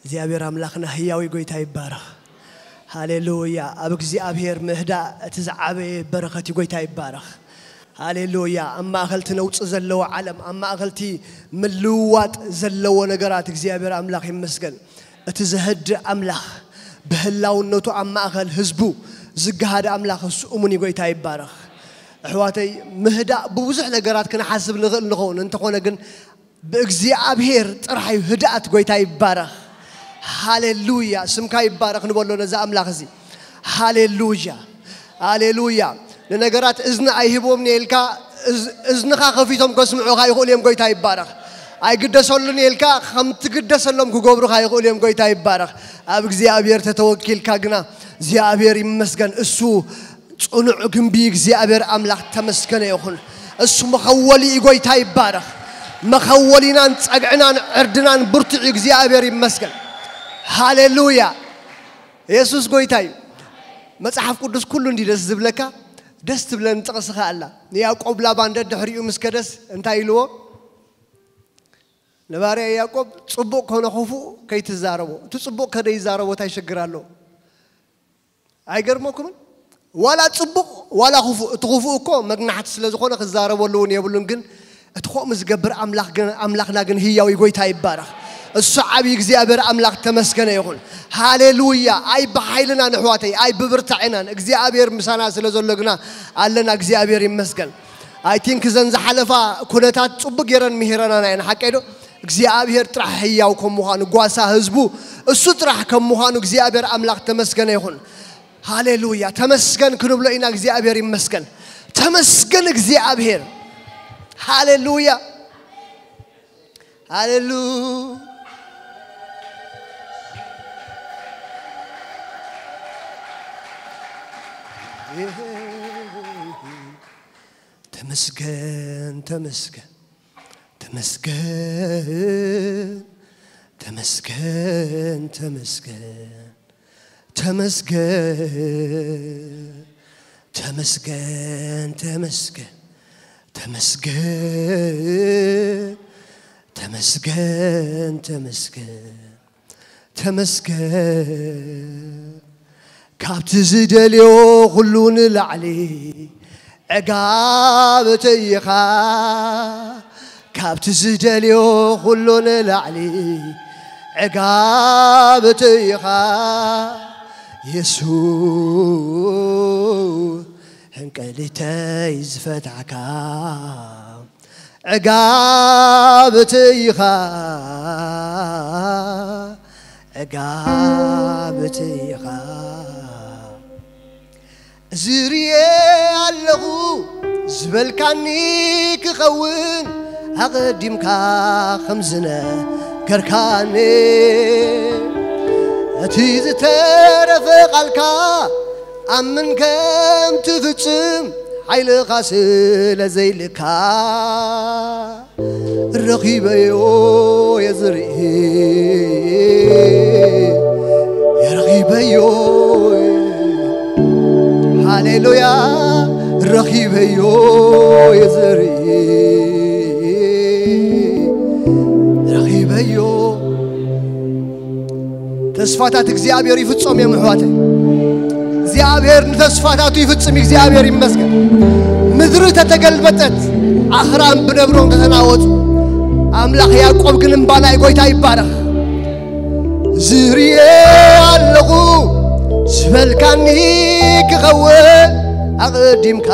እግዚኣብሔር ኣምላኽና ህያዊ ጎይታ ይባረኽ። ሃሌሉያ። ኣብ እግዚኣብሔር ምህዳእ እቲ ዝዓበየ በረኸት እዩ። ጎይታ ይባረኽ። ሃሌሉያ። ኣብ ማእኸል እቲ ነውፂ ዘለዎ ዓለም፣ ኣብ ማእኸል እቲ ምልውዋጥ ዘለዎ ነገራት እግዚኣብሔር ኣምላኽ ይመስገን። እቲ ዘህድእ ኣምላኽ፣ ብህላውነቱ ኣብ ማእኸል ህዝቡ ዝገሃደ ኣምላኽ እሱ እሙን እዩ። ጎይታ ይባረኽ። ኣሕዋተይ፣ ምህዳእ ብብዙሕ ነገራት ክንሓስብ ንኽእል ንኸውን፣ እንተኾነ ግን ብእግዚኣብሔር ጥራሕ እዩ ህድኣት። ጎይታ ይባረኽ። ሃሌሉያ። ስምካ ይባረኽ ንበሎ ነዚ ኣምላኽ እዚ። ሃሌሉያ። ሃሌሉያ። ንነገራት እዝኒ ኣይህቦም ኢልካ፣ እዝ-፣ እዝንኻ ከፊቶም ከስምዑኻ ይኽእሉ እዮም። ጎይታ ይባረኽ። ኣይግደሰሉን ኢልካ፣ ከም ትግደሰሎም ክገብሩኻ ይኽእሉ እዮም። ጎይታ ይባረኽ። ኣብ እግዚኣብሔር ተተወኪልካ ግና እግዚኣብሔር ይመስገን። እሱ ጽኑዕ ግንቢ እግዚኣብሔር ኣምላኽ ተመስገነ ይኹን። እሱ መኸወሊ እዩ። ጎይታ ይባረኽ። መኸወሊናን ጸግዕናን ዕርድናን ብርቱዕ እዩ። እግዚኣብሔር ይመስገን። ሃሌሉያ። የሱስ ጎይታ እዩ። መጽሓፍ ቅዱስ ኩሉ እንዲ ደስ ዝብለካ፣ ደስ ትብለን ጥቕስኻ ኣላ። ንያዕቆብ ላባን ደድሕሪኡ ምስ ከደስ እንታይ ኢልዎ? ንባርያ ያዕቆብ ጽቡቕ ኮነ ክፉእ ከይትዛረቦ። እቲ ጽቡቕ ከደይዛረቦ እንታይ ሽግር ኣለዎ? ኣይገርመኩምን? ዋላ ጽቡቕ ዋላ ክፉእ፣ እቲ ክፉእ እኮ መግናሕቲ ስለ ዝኾነ ክዛረበሉ እውን የብሉን። ግን እቲ ከምኡ ዝገብር ኣምላኽ ግን፣ ኣምላኽና ግን ህያው እዩ። ጎይታ ይባረኽ። እሱ ዓብዪ እግዚኣብሔር ኣምላኽ ተመስገነ ይኹን። ሃሌሉያ። ኣይ ብሓይልናን ኣሕዋተይ፣ ኣይ ብብርታዕናን፣ እግዚኣብሔር ምሳና ስለ ዘሎ ግና ኣለና። እግዚኣብሔር ይመስገን። ኣይ ቲንክ እዘን ዝሓለፋ ኩነታት ጽቡቅ ገይረን ምሂረናና እየን። ሓቀይ ዶ? እግዚኣብሔር ጥራሕ ህያው ከም ምዃኑ፣ ጓሳ ህዝቡ እሱ ጥራሕ ከም ምዃኑ እግዚኣብሔር ኣምላኽ ተመስገነ ይኹን። ሃሌሉያ። ተመስገን ክንብሎ ኢና። እግዚኣብሔር ይመስገን። ተመስገን እግዚኣብሔር። ሃሌሉያ። ሃሌሉ-፣ ተመስገን፣ ተመስገን፣ ተመስገን፣ ተመስገን፣ ተመስገን፣ ተመስገን፣ ተመስገን፣ ተመስገን፣ ተመስገን፣ ተመስገን፣ ተመስገን፣ ተመስገን። ካብቲ ዝደልዮ ኩሉ ንላዕሊ ዕጋብቲ ኢኻ። ካብቲ ዝደልዮ ኩሉ ንላዕሊ ዕጋብቲ ኢኻ። የሱስ ሕንቀሊተይ ዝፈታሕካ ዕጋብቲ ኢኻ፣ ዕጋብቲ ኢኻ። ዝርየ ኣለኹ ዝበልካኒ ክኸውን ኣቐዲምካ ከም ዝነገርካኒ፣ እቲ ዝተረፈ ቃልካ ኣምን ከም ትፍጽም ሓይልኻ ስለ ዘይልካ፣ ረኺበዮ የዝርኢ፣ ረኺበዮ፣ ሃሌሉያ፣ ረኺበዮ የዝርኢ፣ ረኺበዮ። ተስፋታት እግዚኣብሔር ይፍጾም እዮም ኣሕዋተይ። እግዚኣብሔር ንተስፋታቱ ይፍጽም። እግዚኣብሔር ይመስገን። ምድሪ ተተገልበጠት፣ ኣኽራን ብነብሮም ተተናወጹ። ኣምላኽ ያዕቆብ ግን እምባ ናይ ጎይታ ይባረኽ። ዝርየ ኣለኹ ዝበልካኒ ክኸውን ኣቐዲምካ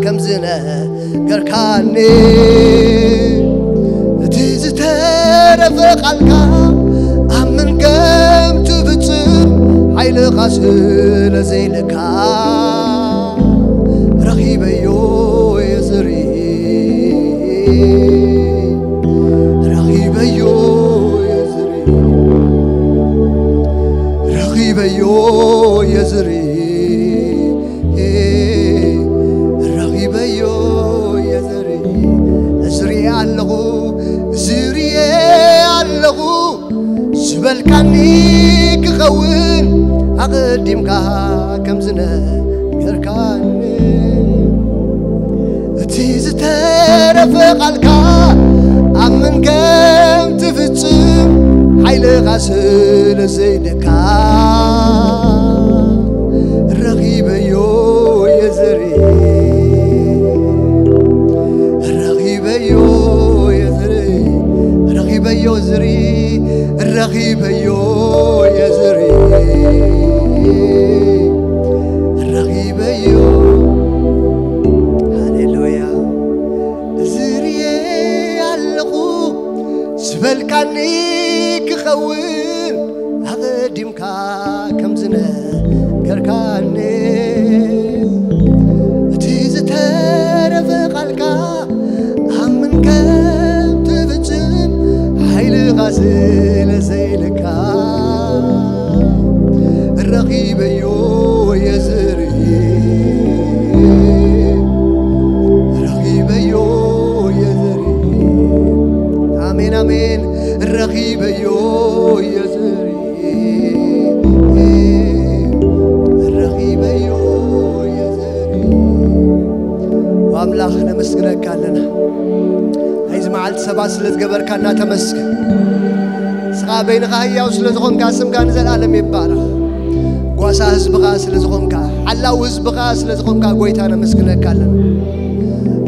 ከም ዝነገርካኒ፣ እቲ ዝተረፈ ቃልካ ኣምን ከም ትፍጽም ሓይልኻ ስለ ዘይልካ፣ ረኺበዮ የዝርኢ፣ ረኺበዮ የዝርኢ፣ ረኺበዮ የዝርኢ፣ ረኺበዮ የዝርኢ። ዝርየ ኣለኹ፣ ዝርየ ኣለኹ ዝበልካኒ ክኸውን ኣቐዲምካ ከም ዝነገርካኒ፣ እቲ ዝተረፈ ቃልካ ኣምን ከም ትፍጽም ሓይል ቃ ስለ ዘይደካ ረኺበዮ የዝሪ ረኺበዮ የዝሪ ረኺበዮ ዝሪ ረኺበዮ የዝሪ ረኺበዮ ሃሌሉያ ዝርየ ኣለኹ ዝበልካኒ ክኸውን ኣቐዲምካ ከም ዝነገርካኒ እቲ ዝተረፈ ቃልካ ኣምን ከም ትፍጽም ሓይልኻ ስለ ዘይልካ ረኺበዮ የዝርኢ ረኺበዮ የዝርኢ ኣሜን ኣሜን ረኺበዮ የዝርኢ ረኺበዮ የዝርኢ ኣምላኽ ነመስግነካ ኣለና ናይዚ መዓልቲ ሰባት ስለ ዝገበርካና ተመስግን ንስኻ በይንኻ ህያው ስለ ዝኾንካ ስምካ ንዘለኣለም ይባረኽ ጓሳ ህዝብኻ ስለ ዝኾንካ ሓላው ህዝብኻ ስለ ዝኾንካ ጎይታ ነመስግነካ ኣለና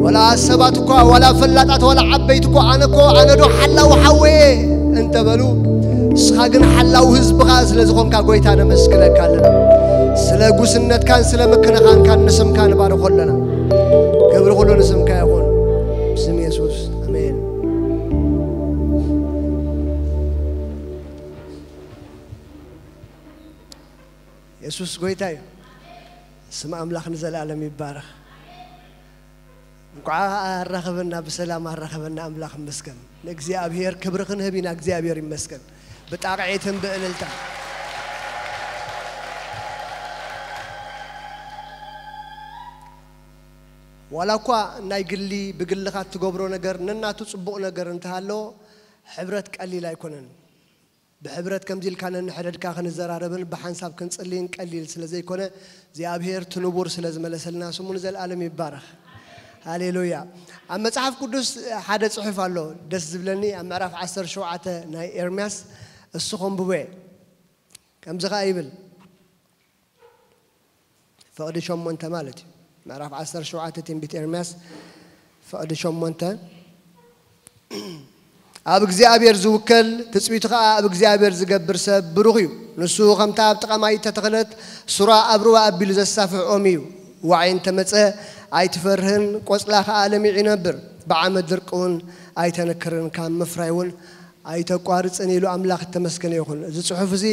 ዋላ ሰባት እኳ ዋላ ፈላጣት ዋላ ዓበይቲ እኳ ኣነ እኮ ኣነ ዶ ሓላው ሓወየ እንተበሉ ንስኻ ግን ሓላው ህዝብኻ ስለ ዝኾንካ ጎይታ ነመስግነካ ኣለና ስለ ጉስነትካን ስለ ምክንኻንካን ንስምካ ንባርኾ ኣለና ክብሪ ኩሉ ንስምካ ይኹን ብስም የሱስ ኣሜን የሱስ ጎይታ እዩ ስም ኣምላኽ ንዘለኣለም ይባረኽ እንኳዓ ኣራኸበና ብሰላም ኣራኸበና ኣምላኽ ይመስገን ንእግዚኣብሔር ክብሪ ክንህብ ኢና እግዚኣብሔር ይመስገን ብጣቕዒትን ብእልልታ ዋላ እኳ ናይ ግሊ ብግልኻ እትገብሮ ነገር ነናቱ ፅቡቕ ነገር እንተሃለዎ ሕብረት ቀሊል ኣይኮነን ብሕብረት ከምዚ ኢልካ ነንሕድሕድካ ክንዘራረብን ብሓንሳብ ክንጽልይን ቀሊል ስለ ዘይኮነ እግዚኣብሔር እቲ ንቡር ስለ ዝመለሰልና ስሙ ንዘለኣለም ይባረኽ። ሃሌሉያ። ኣብ መጽሓፍ ቅዱስ ሓደ ጽሑፍ ኣሎ ደስ ዝብለኒ ኣብ ምዕራፍ ዓሰርተ ሸውዓተ ናይ ኤርምያስ እሱ ከንብቦ እየ። ከምዚ ኸኣ ይብል ፍቕዲ ሸሞንተ ማለት እዩ። ምዕራፍ ዓሰርተ ሸውዓተ ትንቢት ኤርምያስ ፍቕዲ ሸሞንተ ኣብ እግዚኣብሔር ዝውከል ትጽቢቱ ኸኣ ኣብ እግዚኣብሔር ዝገብር ሰብ ብሩኽ እዩ። ንሱ ኸምታ ኣብ ጥቓ ማይ እተተኽለት ሱራ ኣብ ሩባ ኣቢሉ ዘሳፍሕ ኦም እዩ። ዋዒ እንተ መጸ ኣይትፈርህን፣ ቈጽላ ኸኣ ለሚዑ ይነብር። ብዓመት ድርቂ እውን ኣይተንክርን፣ ካብ ምፍራይ እውን ኣይተቋርጽን ኢሉ ኣምላኽ እተመስገነ ይኹን። እዚ ጽሑፍ እዚ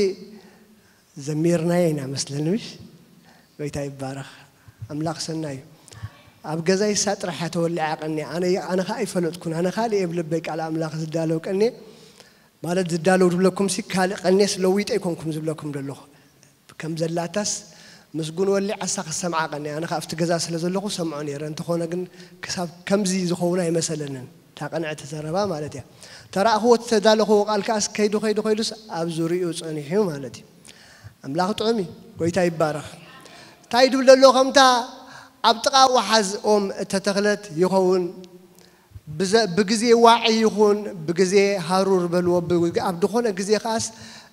ዘሚርናዮ ኢና መስለኒ ምሽ ጎይታ ይባረኽ ኣምላኽ ሰናይ እዩ ኣብ ገዛይ እሳ ጥራሕ እያ ተወሊዓ ቀንያ ኣነ ኣነ ከዓ ኣይፈለጥኩን ኣነ ካልእ እየ ብልበይ ቃል ኣምላኽ ዝዳለው ቀንየ ማለት ዝዳለው ዝብለኩም ሲ ካልእ ቀንየስ ለዊጠ ኣይኮንኩም ዝብለኩም ዘለኹ ከም ዘላታስ ምስጉን ወሊዓሳ ክሰምዓ ቀንየ ኣነ ከዓ ኣብቲ ገዛ ስለ ዘለኹ ሰምዖ ነይረ እንተኾነ ግን ክሳብ ከምዚ ዝኸውን ኣይመሰለንን እታ ቅንዕቲ ዘረባ ማለት እያ። ተረኣኽዎ እቲ ተዳለኽዎ ቃል ከኣስ ከይዱ ከይዱ ከይዱስ ኣብ ዙሪኡ ጸኒሑ ማለት እዩ። ኣምላኽ ጥዑም እዩ። ጎይታ ይባረኽ። እንታይ ድብል ዘሎ ከምታ ኣብ ጥቓ ወሓዝ ኦም እተተኽለት ይኸውን ብዘ- ብግዜ ዋዒ ይኹን ብግዜ ሃሩር በልዎ ብ- ኣብ ዝኾነ ግዜ ከኣስ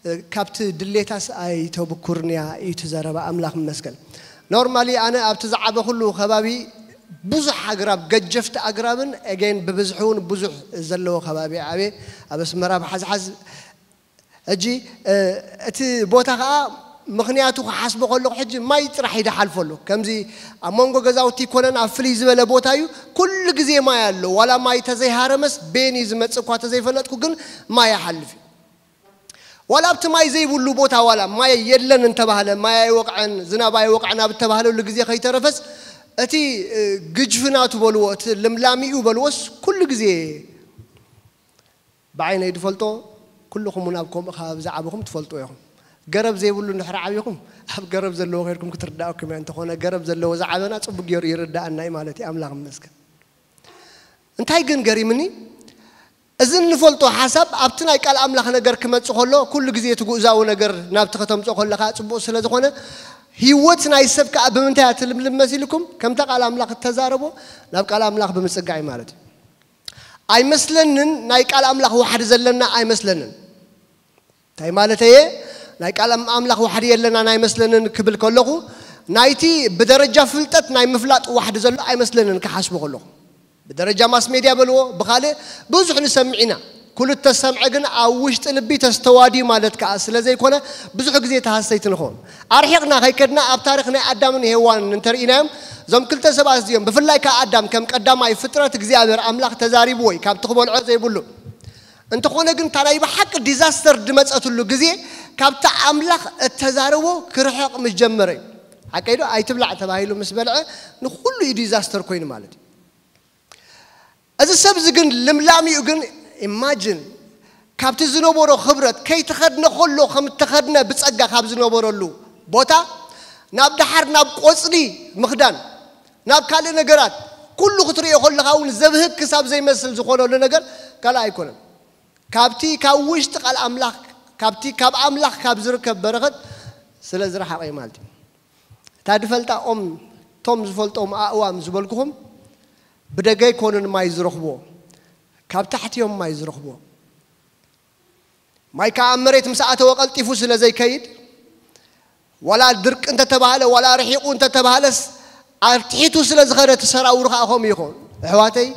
እ፣ ካብቲ ድሌታስ ኣይተብኩርንያ እዩ እቲ ዘረባ ኣምላኽ ይመስገን። ኖርማሊ ኣነ ኣብቲ ዝዓበኹሉ ከባቢ ብዙሕ ኣግራብ ገጀፍቲ ኣግራብን ኤጌን ብብዝሒ እውን ብዙሕ ዘለዎ ከባቢ ዓብየ ኣብ ኣስመራ ብሓዝሓዝ ሕጂ እ፣ እቲ ቦታ ከዓ ምኽንያቱ ክሓስቦ ከለኹ ሕጂ ማይ ጥራሕ እዩ ዝሓልፈሉ ከምዚ ኣብ መንጎ ገዛውቲ ይኮነን ኣብ ፍልይ ዝበለ ቦታ እዩ ኩሉ ግዜ ማይ ኣሎ ዋላ ማይ ተዘይሃረመስ ቤን እዩ ዝመፅእ እኳ ተዘይፈለጥኩ ግን ማይ ይሓልፍ እዩ ዋላ ኣብቲ ማይ ዘይብሉ ቦታ ዋላ ማይ የለን እንተባህለ ማይ ኣይወቕዐን ዝናብ ኣይወቕዐን ኣብ እተባህለሉ ግዜ ከይተረፈስ እቲ ግጅፍናቱ በልዎ እቲ ልምላሚኡ በልዎስ ኩሉ ግዜ ብዓይነይ ዝፈልጦ ኩልኹም እውን ኣብ ከምኡ ከባቢ ዝዓበኹም ትፈልጡ ኢኹም ገረብ ዘይብሉ እንድሕር ዓብኹም ኣብ ገረብ ዘለዎ ከይድኩም ክትርዳእኩም እያ እንተኾነ ገረብ ዘለዎ ዝዓበና ፅቡቅ ገይሩ ይርዳእና እዩ ማለት እዩ ኣምላኽ ይመስገን እንታይ ግን ገሪምኒ እዚ እንፈልጦ ሓሳብ ኣብቲ ናይ ቃል ኣምላኽ ነገር ክመጽእ ከሎ ኩሉ ግዜ እቲ ጉእዛዊ ነገር ናብቲ ከተምጽኦ ከለኻ ጽቡቕ ስለ ዝኾነ ህይወት ናይ ሰብ ከኣ ብምንታይ እያ ትልምልም መሲልኩም ከምታ ቃል ኣምላኽ እተዛረቦ ናብ ቃል ኣምላኽ ብምጽጋዕ እዩ ማለት እዩ ኣይመስለንን ናይ ቃል ኣምላኽ ዋሕዲ ዘለና ኣይመስለንን እንታይ ማለት እየ? ናይ ቃል ኣምላኽ ዋሕዲ የለና ናይ መስለንን ክብል ከለኹ፣ ናይቲ ብደረጃ ፍልጠት ናይ ምፍላጥ ዋሕዲ ዘሎ ኣይመስለንን ክሓስቦ ከለኹ። ብደረጃ ማስ ሜድያ በልዎ፣ ብኻልእ ብዙሕ ንሰምዕ ኢና። ኩሉ እተሰምዐ ግን ኣብ ውሽጢ ልቢ ተስተዋድዩ ማለት ከኣ ስለ ዘይኮነ፣ ብዙሕ ግዜ ተሃሰይቲ ንኸውን። ኣርሒቕና ከይከድና ኣብ ታሪኽ ናይ ኣዳምን ሄዋንን እንተርኢናዮም፣ እዞም ክልተ ሰባት እዚኦም፣ ብፍላይ ከኣ ኣዳም ከም ቀዳማይ ፍጥረት እግዚኣብሔር ኣምላኽ ተዛሪብዎ እዩ፣ ካብቲ ክበልዖ ዘይብሉ። እንተኾነ ግን እታ ናይ ብሓቂ ዲዛስተር ዝመጸትሉ ግዜ ካብቲ ኣምላኽ እተዛረቦ ክርሕቕ ምስ ጀመረ እዩ። ሓቀይ ዶ? ኣይትብላዕ ተባሂሉ ምስ በልዐ ንኹሉ እዩ ዲዛስተር ኮይኑ ማለት እዩ። እዚ ሰብ እዚ ግን ልምላሚኡ ግን ኢማጅን ካብቲ ዝነበሮ ክብረት ከይተኸድነ ከሎ ከም እተኸድነ ብጸጋ ካብ ዝነበረሉ ቦታ ናብ ደሓር ናብ ቆጽሊ ምኽዳን ናብ ካልእ ነገራት ኩሉ ክትርእዮ ከለኻ እውን ዘብህግ ክሳብ ዘይመስል ዝኾነሉ ነገር ካልእ ኣይኮነን። ካብቲ ካብ ውሽጢ ቃል ኣምላኽ ካብቲ ካብ ኣምላኽ ካብ ዝርከብ በረኸት ስለ ዝረሓቐ እዩ ማለት እዩ። እታ ድፈልጣ ኦም ቶም ዝፈልጦም ኣእዋም ዝበልኩኹም ብደገ ኣይኮኑን ማይ ዝረኽብዎ፣ ካብ ታሕቲ እዮም ማይ ዝረኽብዎ። ማይ ከዓ ኣብ መሬት ምስ ኣተወ ቀልጢፉ ስለ ዘይከይድ ዋላ ድርቂ እንተተባህለ ዋላ ርሒቑ እንተተባህለስ ኣርትሒቱ ስለ ዝኸደ እቲ ሰራውሩ ከዓ ከምኡ ይኸውን። ኣሕዋተይ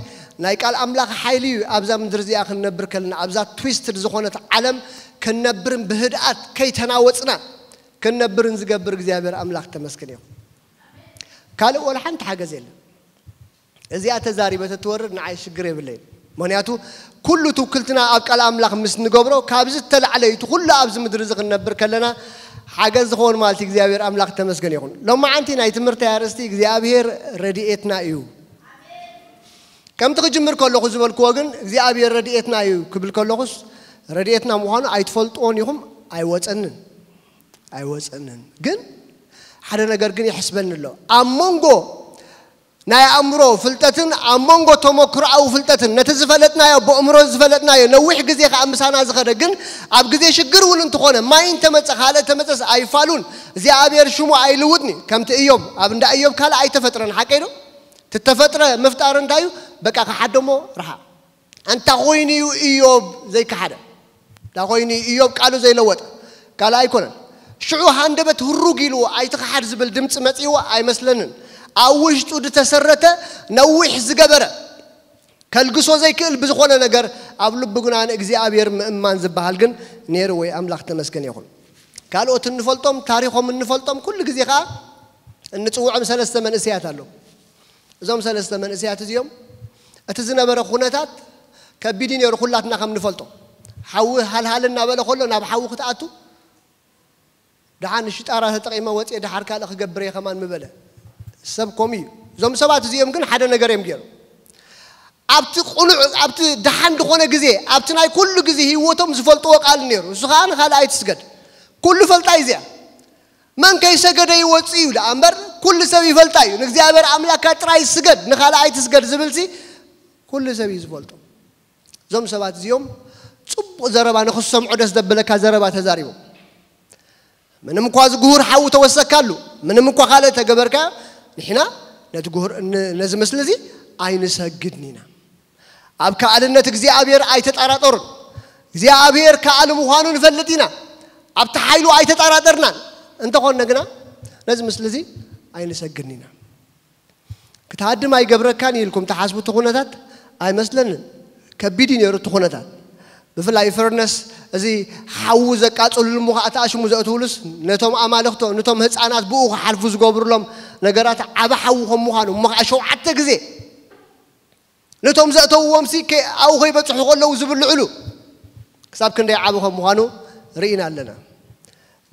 ናይ ቃል ኣምላኽ ሓይሊ እዩ። ኣብዛ ምድሪ እዚኣ ክንነብር ከለና ኣብዛ ትዊስትድ ዝኾነት ዓለም ክንነብርን ብህድኣት ከይተናወፅና ክንነብርን ዝገብር እግዚኣብሔር ኣምላኽ ተመስገን ይኹን። ካልእ ወላ ሓንቲ ሓገዝ የለን። እዚኣ ተዛሪበ ተትወርድ ንዓይ ሽግር የብለይን። ምክንያቱ ኩሉ ትውክልትና ኣብ ቃል ኣምላኽ ምስ ንገብሮ ካብዚ እተላዕለ እዩ። እቲ ኩሉ ኣብዚ ምድሪ እዚ ክንነብር ከለና ሓገዝ ዝኸውን ማለት እግዚኣብሔር ኣምላኽ ተመስገን ይኹን። ሎማዓንቲ ናይ ትምህርቲ ኣርእስቲ እግዚኣብሔር ረድኤትና እዩ። ከምቲ ክጅምር ከለኹ ዝበልክዎ ግን እግዚኣብሔር ረድኤትና እዩ ክብል ከለኹስ ረድኤትና ምዃኑ ኣይትፈልጥዎን ኢኹም። ኣይወፀንን ኣይወፀንን። ግን ሓደ ነገር ግን ይሕስበኒ ኣሎ። ኣብ መንጎ ናይ ኣእምሮ ፍልጠትን ኣብ መንጎ ተመክሮኣዊ ፍልጠትን ነቲ ዝፈለጥናዮ ብእምሮ ዝፈለጥናዮ ነዊሕ ግዜ ከዓ ምሳና ዝኸደ ግን ኣብ ግዜ ሽግር እውን እንተኾነ ማይ እንተመፀ ካልእ ተመፀስ ኣይፋሉን እግዚኣብሔር ሽሙ ኣይልውጥኒ። ከምቲ እዮም ኣብ እንዳ እዮም ካልእ ኣይተፈጥረን ሓቀይ ዶ? ትተፈጥረ ምፍጣር እንታይ እዩ? በቃ ክሓደሞ ረሓ እንታ ኮይኑ እዩ እዮብ ዘይከሓደ? እንታ ኮይኑ እዩ እዮብ ቃሉ ዘይለወጠ? ካልእ ኣይኮነን። ሽዑ ሃንደበት ህሩግ ኢልዎ ኣይትኸሓድ ዝብል ድምፂ መፂእዎ ኣይመስለንን። ኣብ ውሽጡ ዝተሰረተ ነዊሕ ዝገበረ ከልግሶ ዘይክእል ብዝኾነ ነገር ኣብ ልቡ ግና ንእግዚኣብሔር ምእማን ዝበሃል ግን ነይሩ ወይ ኣምላኽ ተመስገን ይኹን። ካልኦት እንፈልጦም ታሪኾም እንፈልጦም ኩሉ ግዜ ከዓ እንፅውዖም ሰለስተ መንእሰያት ኣለዉ። እዞም ሰለስተ መንእሰያት እዚኦም እቲ ዝነበረ ኩነታት ከቢድ እዩ ነይሩ። ኩላትና ከም ንፈልጦ ሓዊ ሃልሃል እናበለ ከሎ ናብ ሓዊ ክትኣቱ ደሓን ሽጣራ ተጠቒመ ወፅኤ ደሓር ካልእ ክገብር እየ ከማን ምበለ ሰብ ኮም እዩ። እዞም ሰባት እዚኦም ግን ሓደ ነገር እዮም ገይሩ። ኣብቲ ቁኑዕ ኣብቲ ደሓን ዝኾነ ግዜ ኣብቲ ናይ ኩሉ ግዜ ህይወቶም ዝፈልጥዎ ቃል ነይሩ። እሱ ከዓ ንካልእ ኣይትስገድ ኩሉ ፈልጣ እዩ እዚኣ መን ከይሰገደ ይወፅእ እዩ ደኣ እምበር ኩሉ ሰብ ይፈልጣ እዩ። ንእግዚኣብሔር ኣምላክካ ጥራይ ስገድ ንኻልእ ኣይትስገድ ዝብልሲ ኩሉ ሰብ እዩ ዝፈልጦ። እዞም ሰባት እዚኦም ፅቡቕ ዘረባ ንክሰምዖ ደስ ዘብለካ ዘረባ ተዛሪቦም። ምንም እኳ ዝግሁር ሓዊ ተወሰካሉ ምንም እኳ ካልእ ተገበርካ ንሕና ነቲ ግሁር ነዚ ምስሊ እዚ ኣይንሰግድን ኢና። ኣብ ከኣልነት እግዚኣብሔር ኣይተጠራጠሩን። እግዚኣብሔር ከኣል ምዃኑ ንፈልጥ ኢና። ኣብቲ ሓይሉ ኣይተጠራጠርናን። እንተኾነ ግና ነዚ ምስሊ እዚ ኣይንሰግድን ኢና። ክትሃድም ኣይገብረካን ኢልኩም ትሓስቡ እቲ ኩነታት ኣይመስለንን። ከቢድ እዩ ነይሩ እቲ ኩነታት። ብፍላይ ፈርነስ እዚ ሓዊ ዘቃፅልሉ እሞ ከዓ ተኣሽሙ ዘእትውሉስ ነቶም ኣማልኽቶ ነቶም ህፃናት ብኡ ክሓልፉ ዝገብሩሎም ነገራት ዓብ ሓዊ ከም ምዃኑ እሞ ከዓ ሸውዓተ ግዜ ነቶም ዘእተውዎም ሲ ኣብኡ ከይበፅሑ ከለዉ ዝብልዕሉ ክሳብ ክንደይ ዓብ ከም ምዃኑ ርኢና ኣለና።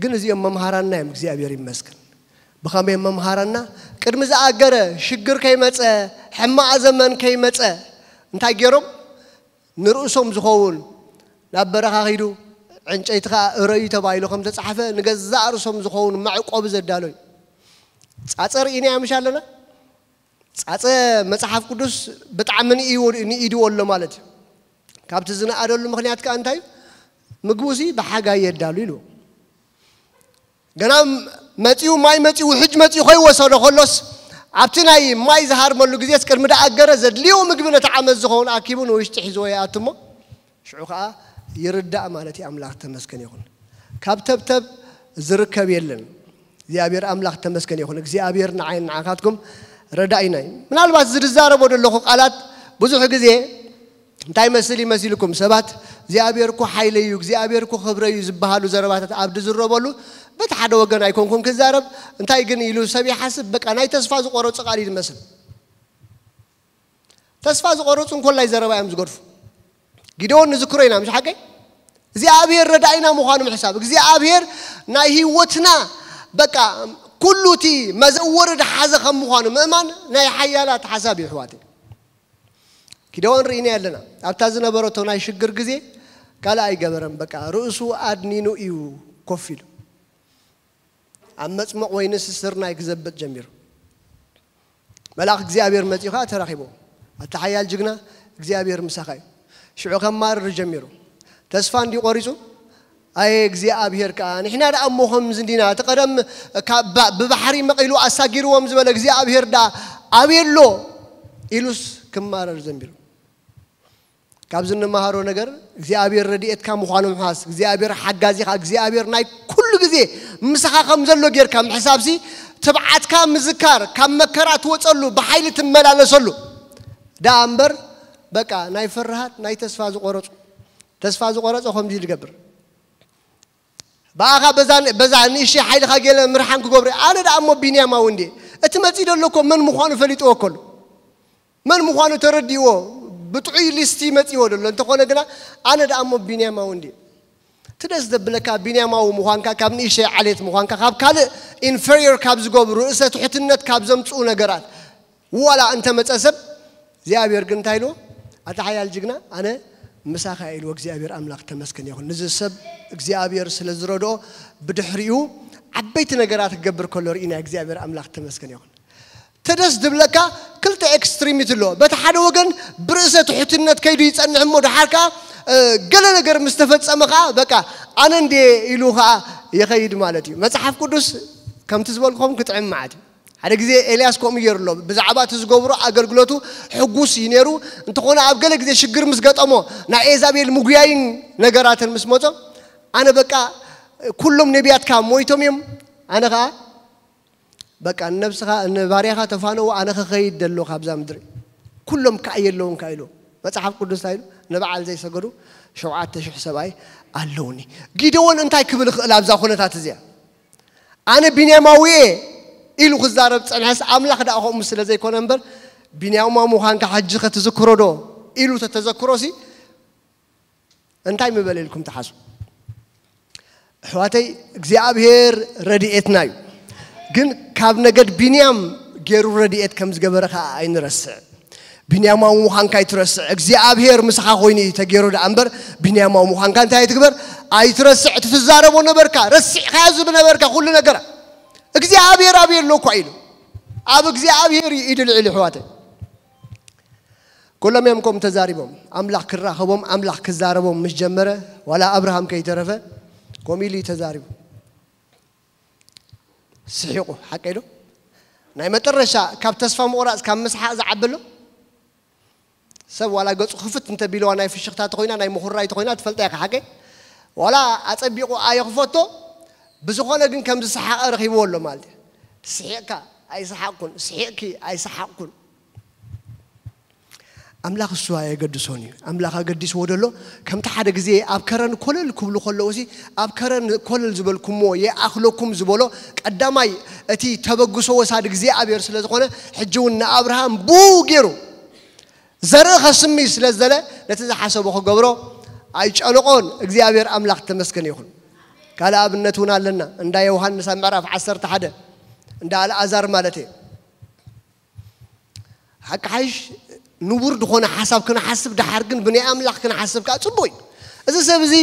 ግን እዚኦም መምሃራና እዮም እግዚኣብሔር ይመስገን። ብኸመይ መምሃራና? ቅድሚ ዝኣገረ ሽግር ከይመፀ ሕማቕ ዘመን ከይመፀ እንታይ ገይሮም ንርእሶም ዝኸውን ናብ በረኻ ኺዱ ዕንጨይቲ ኸዓ እረዩ ተባሂሉ ከም ተፃሕፈ ንገዛእ ርእሶም ዝኸውን መዕቆቢ ዘዳለዩ ፃፀ ርኢና ምሽ ኣለና። ፃፀ መፅሓፍ ቅዱስ ብጣዕሚ ንኢድዎ ኣሎ ማለት እዩ። ካብቲ ዝነኣደሉ ምክንያት ከዓ እንታይ እዩ? ምግቡ ሲ ብሓጋይ የዳሉ ኢሉ ገና መፂኡ ማይ መፂኡ ውሕጅ መፂኡ ከይወሰዶ ከሎስ ኣብቲ ናይ ማይ ዝሃርመሉ ግዜስ ቅድሚ ደኣገረ ዘድልዮ ምግቢ ነቲ ዓመት ዝኸውን ኣኪቡ ንውሽጢ ሒዝዎ ይኣቱ እሞ ሽዑ ከዓ ይርዳእ ማለት እዩ። ኣምላኽ ተመስገን ይኹን። ካብ ተብተብ ዝርከብ የለን። እግዚኣብሔር ኣምላኽ ተመስገን ይኹን። እግዚኣብሔር ንዓይን ንዓኻትኩም ረዳኢና እዩ። ምናልባት ዝዛረቦ ዘለኹ ቃላት ብዙሕ ግዜ እንታይ መስል ይመስልኩም? ሰባት እግዚኣብሔር እኮ ሓይለይ እዩ፣ እግዚኣብሔር እኮ ክብረይ እዩ ዝበሃሉ ዘረባታት ኣብ ዝዝረበሉ በቲ ሓደ ወገን ኣይኮንኩን ክዛረብ። እንታይ ግን ኢሉ ሰብ ይሓስብ? በቃ ናይ ተስፋ ዝቆረጹ ቃል እዩ ዝመስል። ተስፋ ዝቆረጹ እንኮላይ ዘረባ እዮም ዝገድፉ። ጊደዎን ንዝክሮ ኢና፣ ምሽ ሓቀይ እግዚኣብሔር ረዳኢና ምዃኑ ምሕሳብ፣ እግዚኣብሔር ናይ ህይወትና በቃ ኩሉ እቲ መዘወሪ ድሓዘ ከም ምዃኑ ምእማን ናይ ሓያላት ሓሳብ እዩ። ኣሕዋተይ፣ ጊደዎን ርኢና ኣለና። ኣብታ ዝነበረቶ ናይ ሽግር ግዜ ካልእ ኣይገበረን። በቃ ርእሱ ኣድኒኑ እዩ ኮፍ ኢሉ። ኣብ መጽመቕ ወይንስ ስርናይ ክዘብጥ ጀሚሩ። መልኣኽ እግዚኣብሔር መጺኡ ኸኣ ተራኺቦ። ኣታ ሓያል ጅግና፣ እግዚኣብሔር ምሳኻ እዩ። ሽዑ ከማርር ጀሚሩ። ተስፋ እንዲ ቆሪጹ፣ ኣየ እግዚኣብሔር ከኣ፣ ንሕና ደኣ እሞ ከምዚ እንዲና፣ እቲ ቀደም ካብ ባ-፣ ብባሕሪ መቒሉ ኣሳጊርዎም ዝበለ እግዚኣብሔር ደኣ ኣበይ ኣሎ? ኢሉስ ክማረር ጀሚሩ። ካብዚ እንመሃሮ ነገር እግዚኣብሔር ረድኤትካ ምዃኑ ምሓስ፣ እግዚኣብሔር ሓጋዚኻ፣ እግዚኣብሔር ናይ ኩሉ ግዜ ምሳኻ ከም ዘሎ ጌርካ ምሕሳብሲ ትብዓትካ ምዝካር፣ ካብ መከራ ትወጸሉ፣ ብሓይሊ ትመላለሰሉ ደኣ እምበር በቃ ናይ ፍርሃት ናይ ተስፋ ዝቆረጹ፣ ተስፋ ዝቆረጸ ከምዚ ኢሉ ይገብር። ብኣኻ በዛ በዛ ንእሽተይ ሓይልኻ ገለ ምርሓን ክገብሩ ኣነ ደኣ እሞ ቢንያማዊ እንዴ እቲ መጺእ ዘሎ እኮ መን ምዃኑ ፈሊጥዎ እኮ ኣሎ። መን ምዃኑ ተረዲእዎ ብጥዑይ ሊስቲ መጺዎ ዘሎ እንተኾነ ግና ኣነ ደኣ እሞ ቢንያማዊ እንዴ እቲ ደስ ዘብለካ ቢንያማዊ ምዃንካ ካብ ንእሽተይ ዓሌት ምዃንካ ካብ ካልእ ኢንፌሪየር ካብ ዝገብሩ ርእሰ ትሕትነት ካብ ዘምጽኡ ነገራት ዋላ እንተመጸ ሰብ እግዚኣብሔር ግን እንታይ ኢልዎ ኣታ ሓያል ጅግና ኣነ ምሳኻ ኢልዎ እግዚኣብሔር ኣምላኽ ተመስገን ይኹን ንዚ ሰብ እግዚኣብሔር ስለ ዝረድኦ ብድሕሪኡ ዓበይቲ ነገራት ክገብር ከሎ ርኢና እግዚኣብሔር ኣምላኽ ተመስገን ይኹን ተደስ ድብለካ ክልተ ኤክስትሪሚት ኣሎ በቲ ሓደ ወገን ብርእሰ ትሕትነት ከይዱ ይጸንሕ እሞ ድሓር ከዓ ገለ ነገር ምስ ተፈጸመ ከዓ በቃ ኣነ እንዴ ኢሉ ከዓ ይኸይድ ማለት እዩ መፅሓፍ ቅዱስ ከምቲ ዝበልኩም ክጥዕም ማለት እዩ ሓደ ግዜ ኤልያስ ከምኡ ገይሩ ኣሎ ብዛዕባ እቲ ዝገብሮ ኣገልግሎቱ ሕጉስ እዩ ነይሩ እንተኾነ ኣብ ገለ ግዜ ሽግር ምስ ገጠሞ ናይ ኤዛቤል ምጉያይን ነገራትን ምስ መጾ ኣነ በቃ ኩሎም ነቢያትካ ሞይቶም እዮም ኣነ ከዓ በቃ ንነብስኻ ንባርያኻ ተፋነዎ ኣነ ክኸይድ ደሎ ካብዛ ምድሪ ኩሎም ከዓ የለውን ከዓ ኢሉ መፅሓፍ ቅዱስ እንታይ ኢሉ ንበዓል ዘይሰገዱ ሸውዓተ ሽሕ ሰብኣይ ኣለውኒ ጊደዎን እንታይ ክብል ይኽእል ኣብዛ ኩነታት እዚኣ ኣነ ቢንያማዊ እየ ኢሉ ክዛረብ ፀንሐስ ኣምላኽ ደኣ ከምኡ ስለ ዘይኮነ እምበር ቢንያማዊ ምዃንካ ሕጂ ከተዝክሮ ዶ ኢሉ ተተዘክሮሲ እንታይ ምበለ ኢልኩም ትሓስቡ ኣሕዋተይ እግዚኣብሔር ረድኤትና እዩ ግን ካብ ነገድ ቢንያም ገይሩ ረድኤት ከም ዝገበረ ከዓ ኣይንረስዕ ቢንያማዊ ምዃንካ ኣይትረስዕ እግዚኣብሔር ምሳኻ ኮይኑ እዩ ተገይሩ ደኣ እምበር ቢንያማዊ ምዃንካ እንታይ ኣይትግበር ኣይትረስዕ እቲ ትዛረቦ ነበርካ ረሲዕካዮ ዝነበርካ ኩሉ ነገራ እግዚኣብሔር ኣበይ ኣሎ እኳ ኢሉ ኣብ እግዚኣብሔር እዩ ኢዱ ልዕል ኣሕዋተይ ኩሎም እዮም ከምኡ ተዛሪቦም ኣምላኽ ክራኸቦም ኣምላኽ ክዛረቦም ምስ ጀመረ ዋላ ኣብርሃም ከይተረፈ ከምኡ ኢሉ እዩ ተዛሪቡ ስሒቑ ሓቀይ ዶ ናይ መጠረሻ ካብ ተስፋ ምቑራፅ ካብ ምስሓቕ ዝዓበሎ ሰብ ዋላ ገፁ ክፍት እንተቢልዋ ናይ ፍሽኽታ ተኮይና ናይ ምኹራይ ተኮይና ትፈልጣ ኢኻ ሓቀይ ዋላ ኣፀቢቑ ኣየኽፈቶ ብዝኾነ ግን ከም ዝሰሓቐ ረኺብዎ ኣሎ ማለት እዩ ስሒቕካ ኣይሰሓቕኩን ስሒቕኪ ኣይሰሓቕኩን ኣምላኽ እሱ ኣየገድሶን እዩ ኣምላኽ ኣገዲስዎ ደሎ ከምቲ ሓደ ግዜ ኣብ ከረን ኮለል ክብሉ ከለዉ ሲ ኣብ ከረን ኮለል ዝበልኩምዎ የኣኽለኩም ዝበሎ ቀዳማይ እቲ ተበግሶ ወሳድ እግዚኣብሔር ስለ ዝኾነ ሕጂ እውን ንኣብርሃም ብኡ ገይሩ ዘርኢ ከስሚ ስለ ዝደለ ነቲ ዝሓሰቦ ክገብሮ ኣይጨነቆን እግዚኣብሔር ኣምላኽ ተመስገን ይኹን ካልእ ኣብነት እውን ኣለና እንዳ ዮሃንስ ኣብ ምዕራፍ ዓሰርተ ሓደ እንዳ ኣልኣዛር ማለት እየ ሓቂ ሓይሽ ንቡር ዝኾነ ሓሳብ ክንሓስብ ድሓር ግን ብናይ ኣምላኽ ክንሓስብ ከዓ ፅቡቅ እዩ እዚ ሰብ እዚ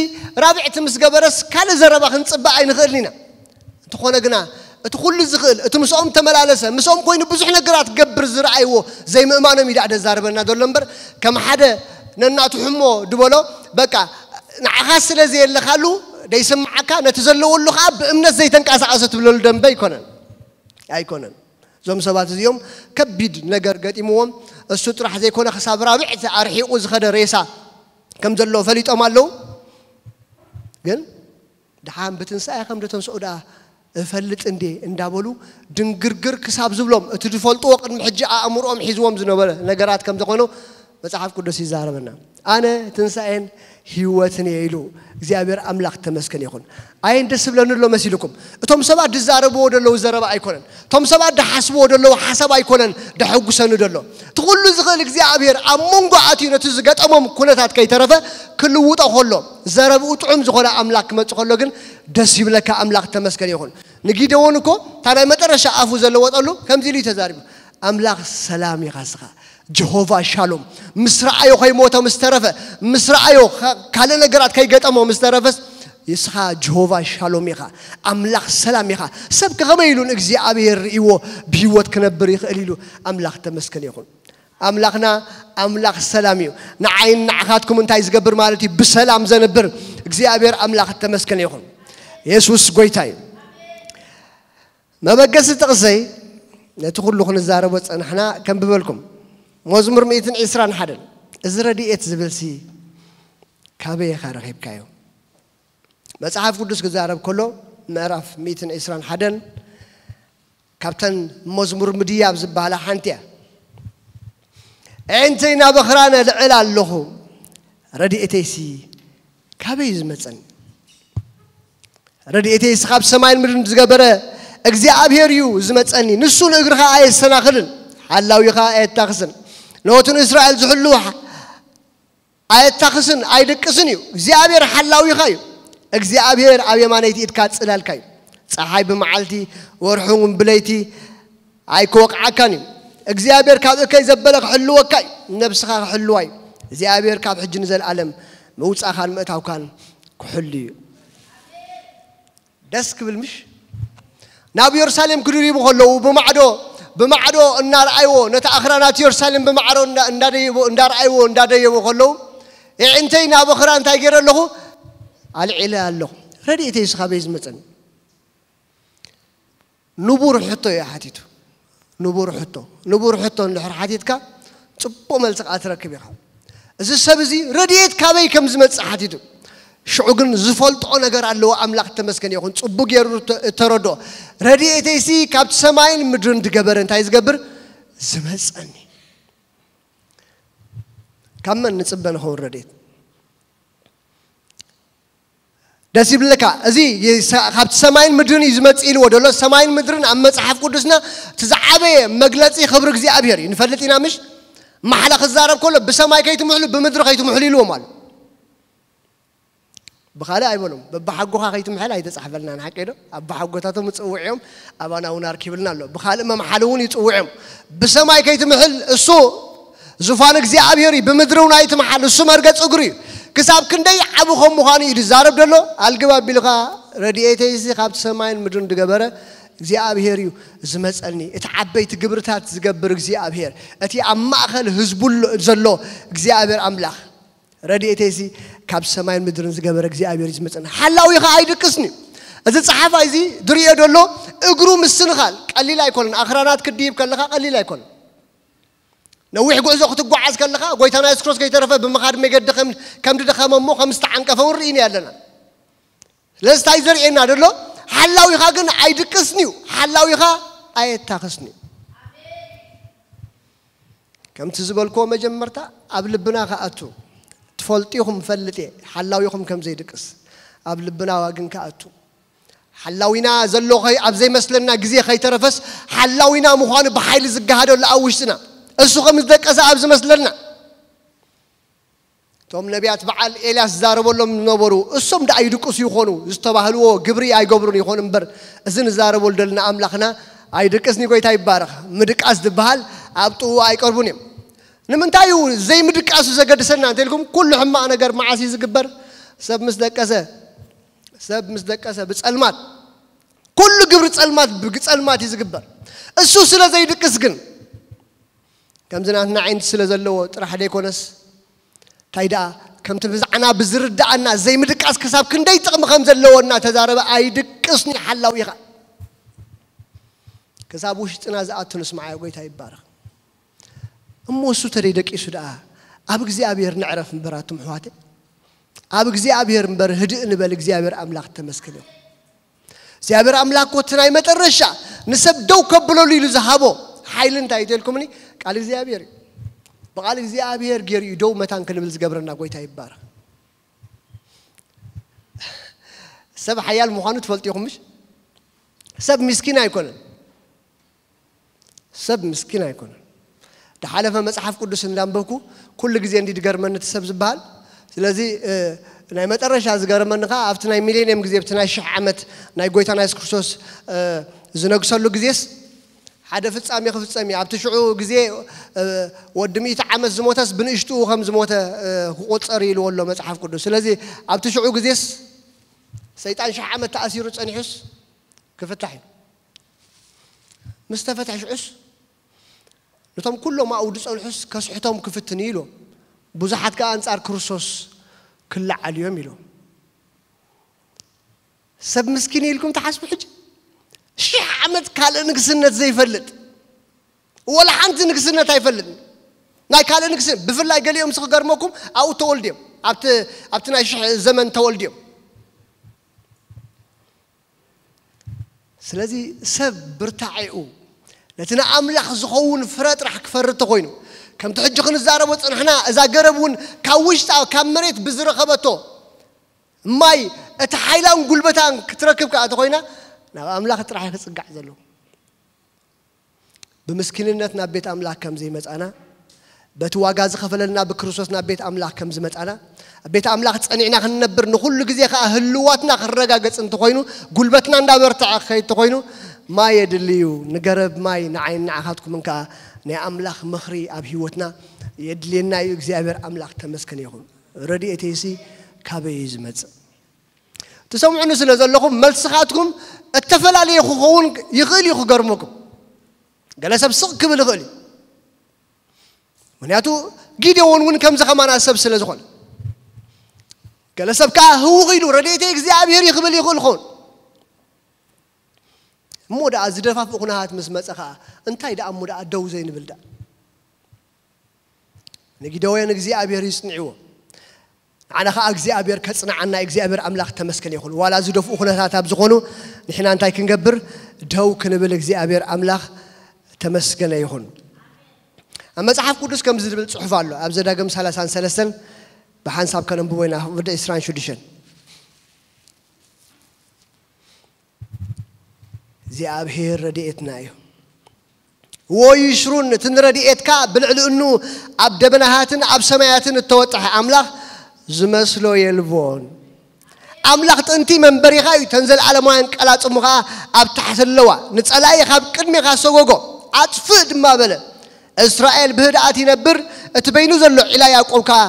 ራብዕቲ ምስ ገበረስ ካልእ ዘረባ ክንፅበእ ኣይንኽእልን ኢና እንተኾነ ግና እቲ ኩሉ ዝኽእል እቲ ምስኦም ተመላለሰ ምስኦም ኮይኑ ብዙሕ ነገራት ገብር ዝረኣይዎ ዘይምእማኖም እዩ ደኣ ደዛርበና ዘሎ እምበር ከም ሓደ ነናቱ ሕሞ ድበሎ በቃ ንዓኻ ስለ ዘየለኻሉ ደይስምዓካ ነቲ ዘለወሉ ከዓ ብእምነት ዘይተንቀሳቐሰ ትብለሉ ደንበ ኣይኮነን ኣይኮነን እዞም ሰባት እዚኦም ከቢድ ነገር ገጢምዎም እሱ ጥራሕ ዘይኮነ ክሳብ ራብዕቲ ኣርሒቑ ዝኸደ ሬሳ ከም ዘሎ ፈሊጦም ኣለዉ ግን ደሓን ብትንሳኤ ከም ደተንስኡ ደኣ እፈልጥ እንዴ እንዳበሉ ድንግርግር ክሳብ ዝብሎም፣ እቲ ዝፈልጥዎ ቅድሚ ሕጂ ኣእምሮኦም ሒዝዎም ዝነበረ ነገራት ከም ዝኾኑ መጽሓፍ ቅዱስ ይዛረበና። "ኣነ ትንሳኤን ህይወትን እየ" ኢሉ እግዚኣብሔር ኣምላኽ ተመስገን ይኹን። ኣየን ደስ ዝብለኒ ኣሎ መሲልኩም? እቶም ሰባት ዝዛረብዎ ዘለዉ ዘረባ ኣይኮነን። እቶም ሰባት ዝሓስብዎ ዘለዉ ሓሳብ ኣይኮነን ደሐጉሰኒ ዘሎ። እቲ ኩሉ ዝኽእል እግዚኣብሔር ኣብ መንጎ ኣትዩ ነቲ ዝገጠሞም ኩነታት ከይተረፈ ክልውጦ ከሎ፣ ዘረብኡ ጥዑም ዝኾነ ኣምላኽ ክመጽእ ከሎ ግን ደስ ይብለካ። ኣምላኽ ተመስገን ይኹን። ንጊደዎን እኮ እታ ናይ መጠረሻ ኣፉ ዘለወጠሉ ከምዚ ኢሉ እዩ ተዛሪቡ። "ኣምላኽ ሰላም ኢኻ እስኻ፣ ጀሆቫ ሻሎም፣ ምስ ረኣዮ ከይሞተ ምስ ተረፈ፣ ምስ ረኣዮ ካ-፣ ካልእ ነገራት ከይገጠሞ ምስ ተረፈስ፣ እስኻ ጀሆቫ ሻሎም ኢኻ፣ ኣምላኽ ሰላም ኢኻ። ሰብከ ከመይ ኢሉ ንእግዚኣብሔር ርእይዎ ብህይወት ክነብር ይኽእል?" ኢሉ። ኣምላኽ ተመስገን ይኹን። ኣምላኽና ኣምላኽ ሰላም እዩ። ንዓይን ንዓኻትኩም እንታይ ዝገብር ማለት እዩ? ብሰላም ዘንብር እግዚኣብሔር ኣምላኽ ተመስገን ይኹን። የሱስ ጎይታ እዩ። መበገሲ ጥቕሰይ ነቲ ኩሉ ክንዛረቦ ጸናሕና ከንብበልኩም። መዝሙር ሚእትን ዕስራን ሓደን፣ እዚ ረድኤት ዝብልሲ ካበይ ኢኻ ረኺብካዮ? መጽሓፍ ቅዱስ ክዛረብ ከሎ ምዕራፍ ሚእትን ዕስራን ሓደን ካብተን መዝሙር ምድያብ ዝበሃላ ሓንቲ እያ። "ኣዒንተይ ናብ ኣኽራን ኣልዕል ኣለኹ፣ ረድኤተይሲ ካበይ እዩ ዝመጸኒ?" ረድኤተይስ ካብ ሰማይን ምድርን ዝገበረ እግዚኣብሔር እዩ ዝመጸኒ። ንሱ ንእግርኻ ኣየሰናኽልን፣ ሓላዊኻ ኣየታኽስን። ነቱ ንእስራኤል ዝሕሉ ኣየታኽስን ኣይድቅስን እዩ። እግዚኣብሔር ሓላዊኻ እዩ። እግዚኣብሔር ኣብ የማነይቲ ኢድካ ጽላልካ እዩ። ጸሓይ ብመዓልቲ፣ ወርሒ እውን ብለይቲ ኣይክወቕዓካን እዩ። እግዚኣብሔር ካብ እከይ ዘበለ ክሕልወካ እዩ። ነብስኻ ክሕልዋ እዩ። እግዚኣብሔር ካብ ሕጂ ንዘለኣለም ምውጻእካን ምእታውካን ክሕሉ እዩ። ደስ ክብል ምሽ? ናብ የሩሳሌም ክድይቡ ከለዉ ብማዕዶ፣ ብማዕዶ እናረኣይዎ፣ ነቲ ኣኽራናት የሩሳሌም ብማዕዶ እንዳ-፣ እንዳደየቡ፣ እንዳረኣይዎ፣ እንዳደየቡ ከለዉ፣ "የዒንተይ ናብ ኣኽራን እንታይ ገይረ ኣለኹ? ኣልዒለ ኣለኹ። ረድኤተይስ ካበይ ዝመጸኒ?" ንቡር ሕቶ እዩ ሓቲቱ። ንቡር ሕቶ። ንቡር ሕቶ እንድሕር ሓቲትካ፣ ጽቡቕ መልሲ ከኣ ትረክብ ኢኻ። እዚ ሰብ እዚ ረድኤት ካበይ ከም ዝመጽእ ሓቲቱ። ሽዑ ግን ዝፈልጦ ነገር ኣለዎ። ኣምላኽ ተመስገን ይኹን። ጽቡቕ ገይሩ እተ-፣ እተረድኦ። "ረድኤተይሲ ካብቲ ሰማይን ምድርን ዝገበረ እንታይ ዝገብር? ዝመጸኒ። ካብ መን ንጽበ ንኸውን ረድኤት?" ደስ ይብለካ። እዚ የሳ-፣ ካብቲ ሰማይን ምድርን እዩ ዝመጽእ ኢልዎ ዘሎ። ሰማይን ምድርን ኣብ መጽሓፍ ቅዱስና እቲ ዝዓበየ መግለጺ ክብሪ እግዚኣብሔር እዩ። ንፈልጥ ኢና ምሽ? ማሕላ ክዛረብ ከሎ ብሰማይ ከይትምሕሉ ብምድሪ ከይትምሕሉ ኢልዎም ኣሎ። ብኻልእ ኣይበሎም። በብሓጎኻ ከይትምሕል ኣይተጻሕፈልናን፣ ሓቂ ዶ? ኣቦሓጎታቶም ይጽውዕ እዮም፣ ኣባና እውን ኣርኪብልና ኣሎ። ብኻልእ መምሓሊ እውን ይጽውዕ እዮም። ብሰማይ ከይትምሕል እሱ ዙፋን እግዚኣብሔር እዩ፣ ብምድሪ እውን ኣይትምሓል፣ እሱ መርገጽ እግሩ እዩ። ክሳብ ክንደይ ዓቢ ከም ምዃኑ እዩ ዝዛረብ ዘሎ። ኣልግብ ኣቢልካ፣ ረድኤተይሲ ካብቲ ሰማይን ምድርን ዝገበረ እግዚኣብሔር እዩ ዝመጸኒ። እቲ ዓበይቲ ግብርታት ዝገብር እግዚኣብሔር፣ እቲ ኣብ ማእከል ህዝቡ ሎ-፣ ዘሎ እግዚኣብሔር ኣምላኽ፣ ረድኤተይሲ ካብ ሰማይን ምድርን ዝገበረ እግዚኣብሔር እዩ ዝመጸኒ። ሓላዊኻ ኣይድቅስን እዩ። እዚ ጸሓፋይ እዚ ዝርእዮ ዘሎ እግሩ ምስንኻል ቀሊል ኣይኮነን። ኣኽራናት ክትድይብ ከለኻ ቀሊል ኣይኮነን። ነዊሕ ጉዕዞ ክትጓዓዝ ከለኻ፣ ጎይታና የሱስ ክርስቶስ ከይተረፈ ብምኻድ መገዲ ከም፣ ከም ዝደኸመ እሞ ከም ዝተዓንቀፈ እውን ርኢና ኣለና። ስለዚ እንታይ ዘርእየና ዘሎ? ሓላዊኻ ግን ኣይድቅስን እዩ። ሓላዊኻ ኣየታኽስን እዩ። ከምቲ ዝበልክዎ መጀመርታ ኣብ ልብና ክኣቱ። ትፈልጡ ኢኹም፣ እፈልጥ እየ፣ ሓላዊኹም ከም ዘይድቅስ። ኣብ ልብና ግን ክኣቱ። ሓላዊና ዘሎ ኸይ-፣ ኣብ ዘይመስለና ግዜ ከይተረፈስ፣ ሓላዊና ምዃኑ ብሓይሊ ዝገሃደሉ ኣብ ውሽጥና። እሱ ከም ዝደቀሰ ኣብ ዝመስለና። እቶም ነቢያት በዓል ኤልያስ ዝዛረበሎም ዝነበሩ፣ እሶም ደኣ ይድቅሱ ይኾኑ፣ ዝተባህልዎ ግብሪ ኣይገብሩን ይኾኑ እምበር፣ እዚ ንዛረበሉ ዘለና ኣምላኽና ኣይድቅስን እዩ። ጎይታ ይባረኽ። ምድቃስ ዝበሃል ኣብ ጥቕኡ ኣይቀርቡን እዮም። ንምንታይ እዩ ዘይምድቃሱ ዘገድሰና እንተኢልኩም፣ ኩሉ ሕማቕ ነገር መዓስ እዩ ዝግበር? ሰብ ምስ ደቀሰ። ሰብ ምስ ደቀሰ፣ ብጸልማት። ኩሉ ግብሪ ጸልማት፣ ብጸልማት እዩ ዝግበር። እሱ ስለ ዘይድቅስ ግን፣ ከምዚ ናትና ዓይንቲ ስለ ዘለዎ ጥራሕ ዘይኮነስ፣ እንታይ ደኣ፣ ከምቲ ብዛዕና ብዝርድኣና ዘይምድቃስ ክሳብ ክንደይ ጥቕሚ ከም ዘለዎ እናተዛረበ፣ "ኣይድቅስን እዩ ሓላዊኻ." ክሳብ ውሽጥና ዝኣቱ ንስምዓዮ። ጎይታ ይባረኽ። እሞ እሱ ተደይ ደቂሱ ደኣ፣ ኣብ እግዚኣብሔር ንዕረፍ እምበር ኣቱም ኣሕዋተይ። ኣብ እግዚኣብሔር እምበር ህድእ ንበል። እግዚኣብሔር ኣምላኽ ተመስገን ይኹን። እግዚኣብሔር ኣምላኽ እኮ እቲ ናይ መጠረሻ ንሰብ ደው ከብለሉ ኢሉ ዝሃቦ ሓይሊ እንታይ እዩ ተልኩምኒ? ቃል እግዚኣብሔር እዩ። ብቓል እግዚኣብሔር ገይሩ እዩ ደው መታን ክንብል ዝገብረና። ጎይታ ይባረኽ። ሰብ ሓያል ምዃኑ ትፈልጡ ኢኹም ምሽ? ሰብ ምስኪን ኣይኮነን። ሰብ ምስኪን ኣይኮነን። ድሓለፈ መጽሓፍ ቅዱስ እንዳንበብኩ ኩሉ ግዜ እንዲ ድገርመኒ እቲ ሰብ ዝበሃል። ስለዚ እ፣ ናይ መጠረሻ ዝገረመኒ ኸዓ ኣብቲ ናይ ሚሌኒየም ግዜ፣ ኣብቲ ናይ ሽሕ ዓመት ናይ ጎይታና የሱስ ክርስቶስ እ፣ ዝነግሰሉ ግዜስ ሓደ ፍጻሜ ክፍጸም እዩ። ኣብቲ ሽዑ ግዜ እ፣ ወዲ ሚእቲ ዓመት ዝሞተስ ብንእሽትኡ ከም ዝሞተ እ፣ ክቑጸር ኢልዎ ኣሎ መጽሓፍ ቅዱስ። ስለዚ ኣብቲ ሽዑ ግዜስ ሰይጣን ሽሕ ዓመት ተኣሲሩ ጸኒሑስ ክፍታሕ እዩ። ምስ ተፈትሐ ሽዑስ ነቶም ኩሎም ኣብኡ ዝጸንሑስ ከስሕቶም ክፍትን እዩ ኢሉ። ብዙሓት ከኣ ኣንጻር ክርስቶስ ክለዓሉ እዮም ኢሉ። ሰብ ምስኪን ኢልኩም ትሓስቡ ሕጂ? ሽሕ ዓመት ካልእ ንግስነት ዘይፈልጥ፣ ወላ ሓንቲ ንግስነት ኣይፈልጥን። ናይ ካልእ ንግስነት ብፍላይ ገሊኦም ምስ ክገርመኩም ኣብኡ ተወልድዮም፣ ኣብቲ ኣብቲ ናይ ሽሕ ዘመን ተወልድዮም። ስለዚ ሰብ ብርታዔኡ ነቲ ንኣምላኽ ዝኸውን ፍረ ጥራሕ ክፈሪ እንተኾይኑ፣ ከምቲ ሕጂ ክንዛረቦ ጸናሕና፣ እዛ ገረብ እውን ካብ ውሽጣ ካብ መሬት ብዝረኸበቶ ማይ እቲ ሓይላን ጉልበታን ክትረክብ ከኣ እንተኾይና፣ ናብ ኣምላኽ ጥራሕ እዩ ክጽጋዕ ዘለዎ። ብምስኪንነት ናብ ቤት ኣምላኽ ከም ዘይመጻና፣ በቲ ዋጋ ዝኸፈለልና ብክርስቶስ ናብ ቤት ኣምላኽ ከም ዝመጻና፣ ኣብ ቤት ኣምላኽ ጸኒዕና ክንነብር፣ ንኹሉ ግዜ ከኣ ህልዋትና ክረጋገጽ እንተኾይኑ፣ ጉልበትና እንዳበርትዐ ክኸይድ እንተኾይኑ፣ ማይ የድሊ እዩ። ንገረብ ማይ ንዓይን ንዓኻትኩምን ከኣ ናይ ኣምላኽ ምኽሪ ኣብ ህይወትና የድልየና እዩ። እግዚኣብሔር ኣምላኽ ተመስገን ይኹን። ረድኤተይሲ ካበይ እዩ ዝመጽእ? ትሰምዑኒ ስለ ዘለኹም፣ መልስኻትኩም እተፈላለየ ክኸውን ይኽእል እዩ። ክገርመኩም፣ ገለ ሰብ ስቕ ክብል ይኽእል እዩ። ምኽንያቱ ጊዴዎን እውን ከምዚ ከማና ሰብ ስለ ዝኾነ፣ ገለ ሰብ ከኣ ህውኽ ኢሉ ረድኤተይ እግዚኣብሔር እዩ ክብል ይኽእል ይኸውን። እሞ ደኣ ዝደፋፍኡ ኩነታት ምስ መጸ ከኣ እንታይ ደኣ እሞ ደኣ ደው ዘይንብል ደኣ? ንጊዴዎን እግዚኣብሔር እዩ ጽንዕዎ። ንዓና ኸዓ እግዚኣብሔር ከጽንዓና እግዚኣብሔር ኣምላኽ ተመስገን ይኹን። ዋላ ዝደፍኡ ኩነታት ኣብ ዝኾኑ ንሕና እንታይ ክንገብር? ደው ክንብል እግዚኣብሔር ኣምላኽ ተመስገነ ይኹን። ኣብ መጽሓፍ ቅዱስ ከምዚ ዝብል ጽሑፍ ኣሎ። ኣብ ዘዳግም ሰላሳን ሰለስተን ብሓንሳብ ከነንብቦ ኢና። ወደ ዕስራን ሽዱሽተን። እግዚኣብሔር ረድኤትና እዩ። ወይሽሩን እቲ ንረድኤትካ ብልዕሊ እኑ ኣብ ደበናሃትን ኣብ ሰማያትን እተወጥሐ ኣምላኽ ዝመስሎ የልቦን። ኣምላኽ ጥንቲ መንበሪኻ እዩ፣ እተን ዘለዓለማውያን ቀላጽሙ ኸኣ ኣብ ታሕቲ ኣለዋ። ንጸላኢ ካብ ቅድሜኻ ሰጎጎ፣ ኣጥፍእ ድማ በለ። እስራኤል ብህድኣት ይነብር፣ እቲ በይኑ ዘሎ ዒላ ያዕቆብ ከኣ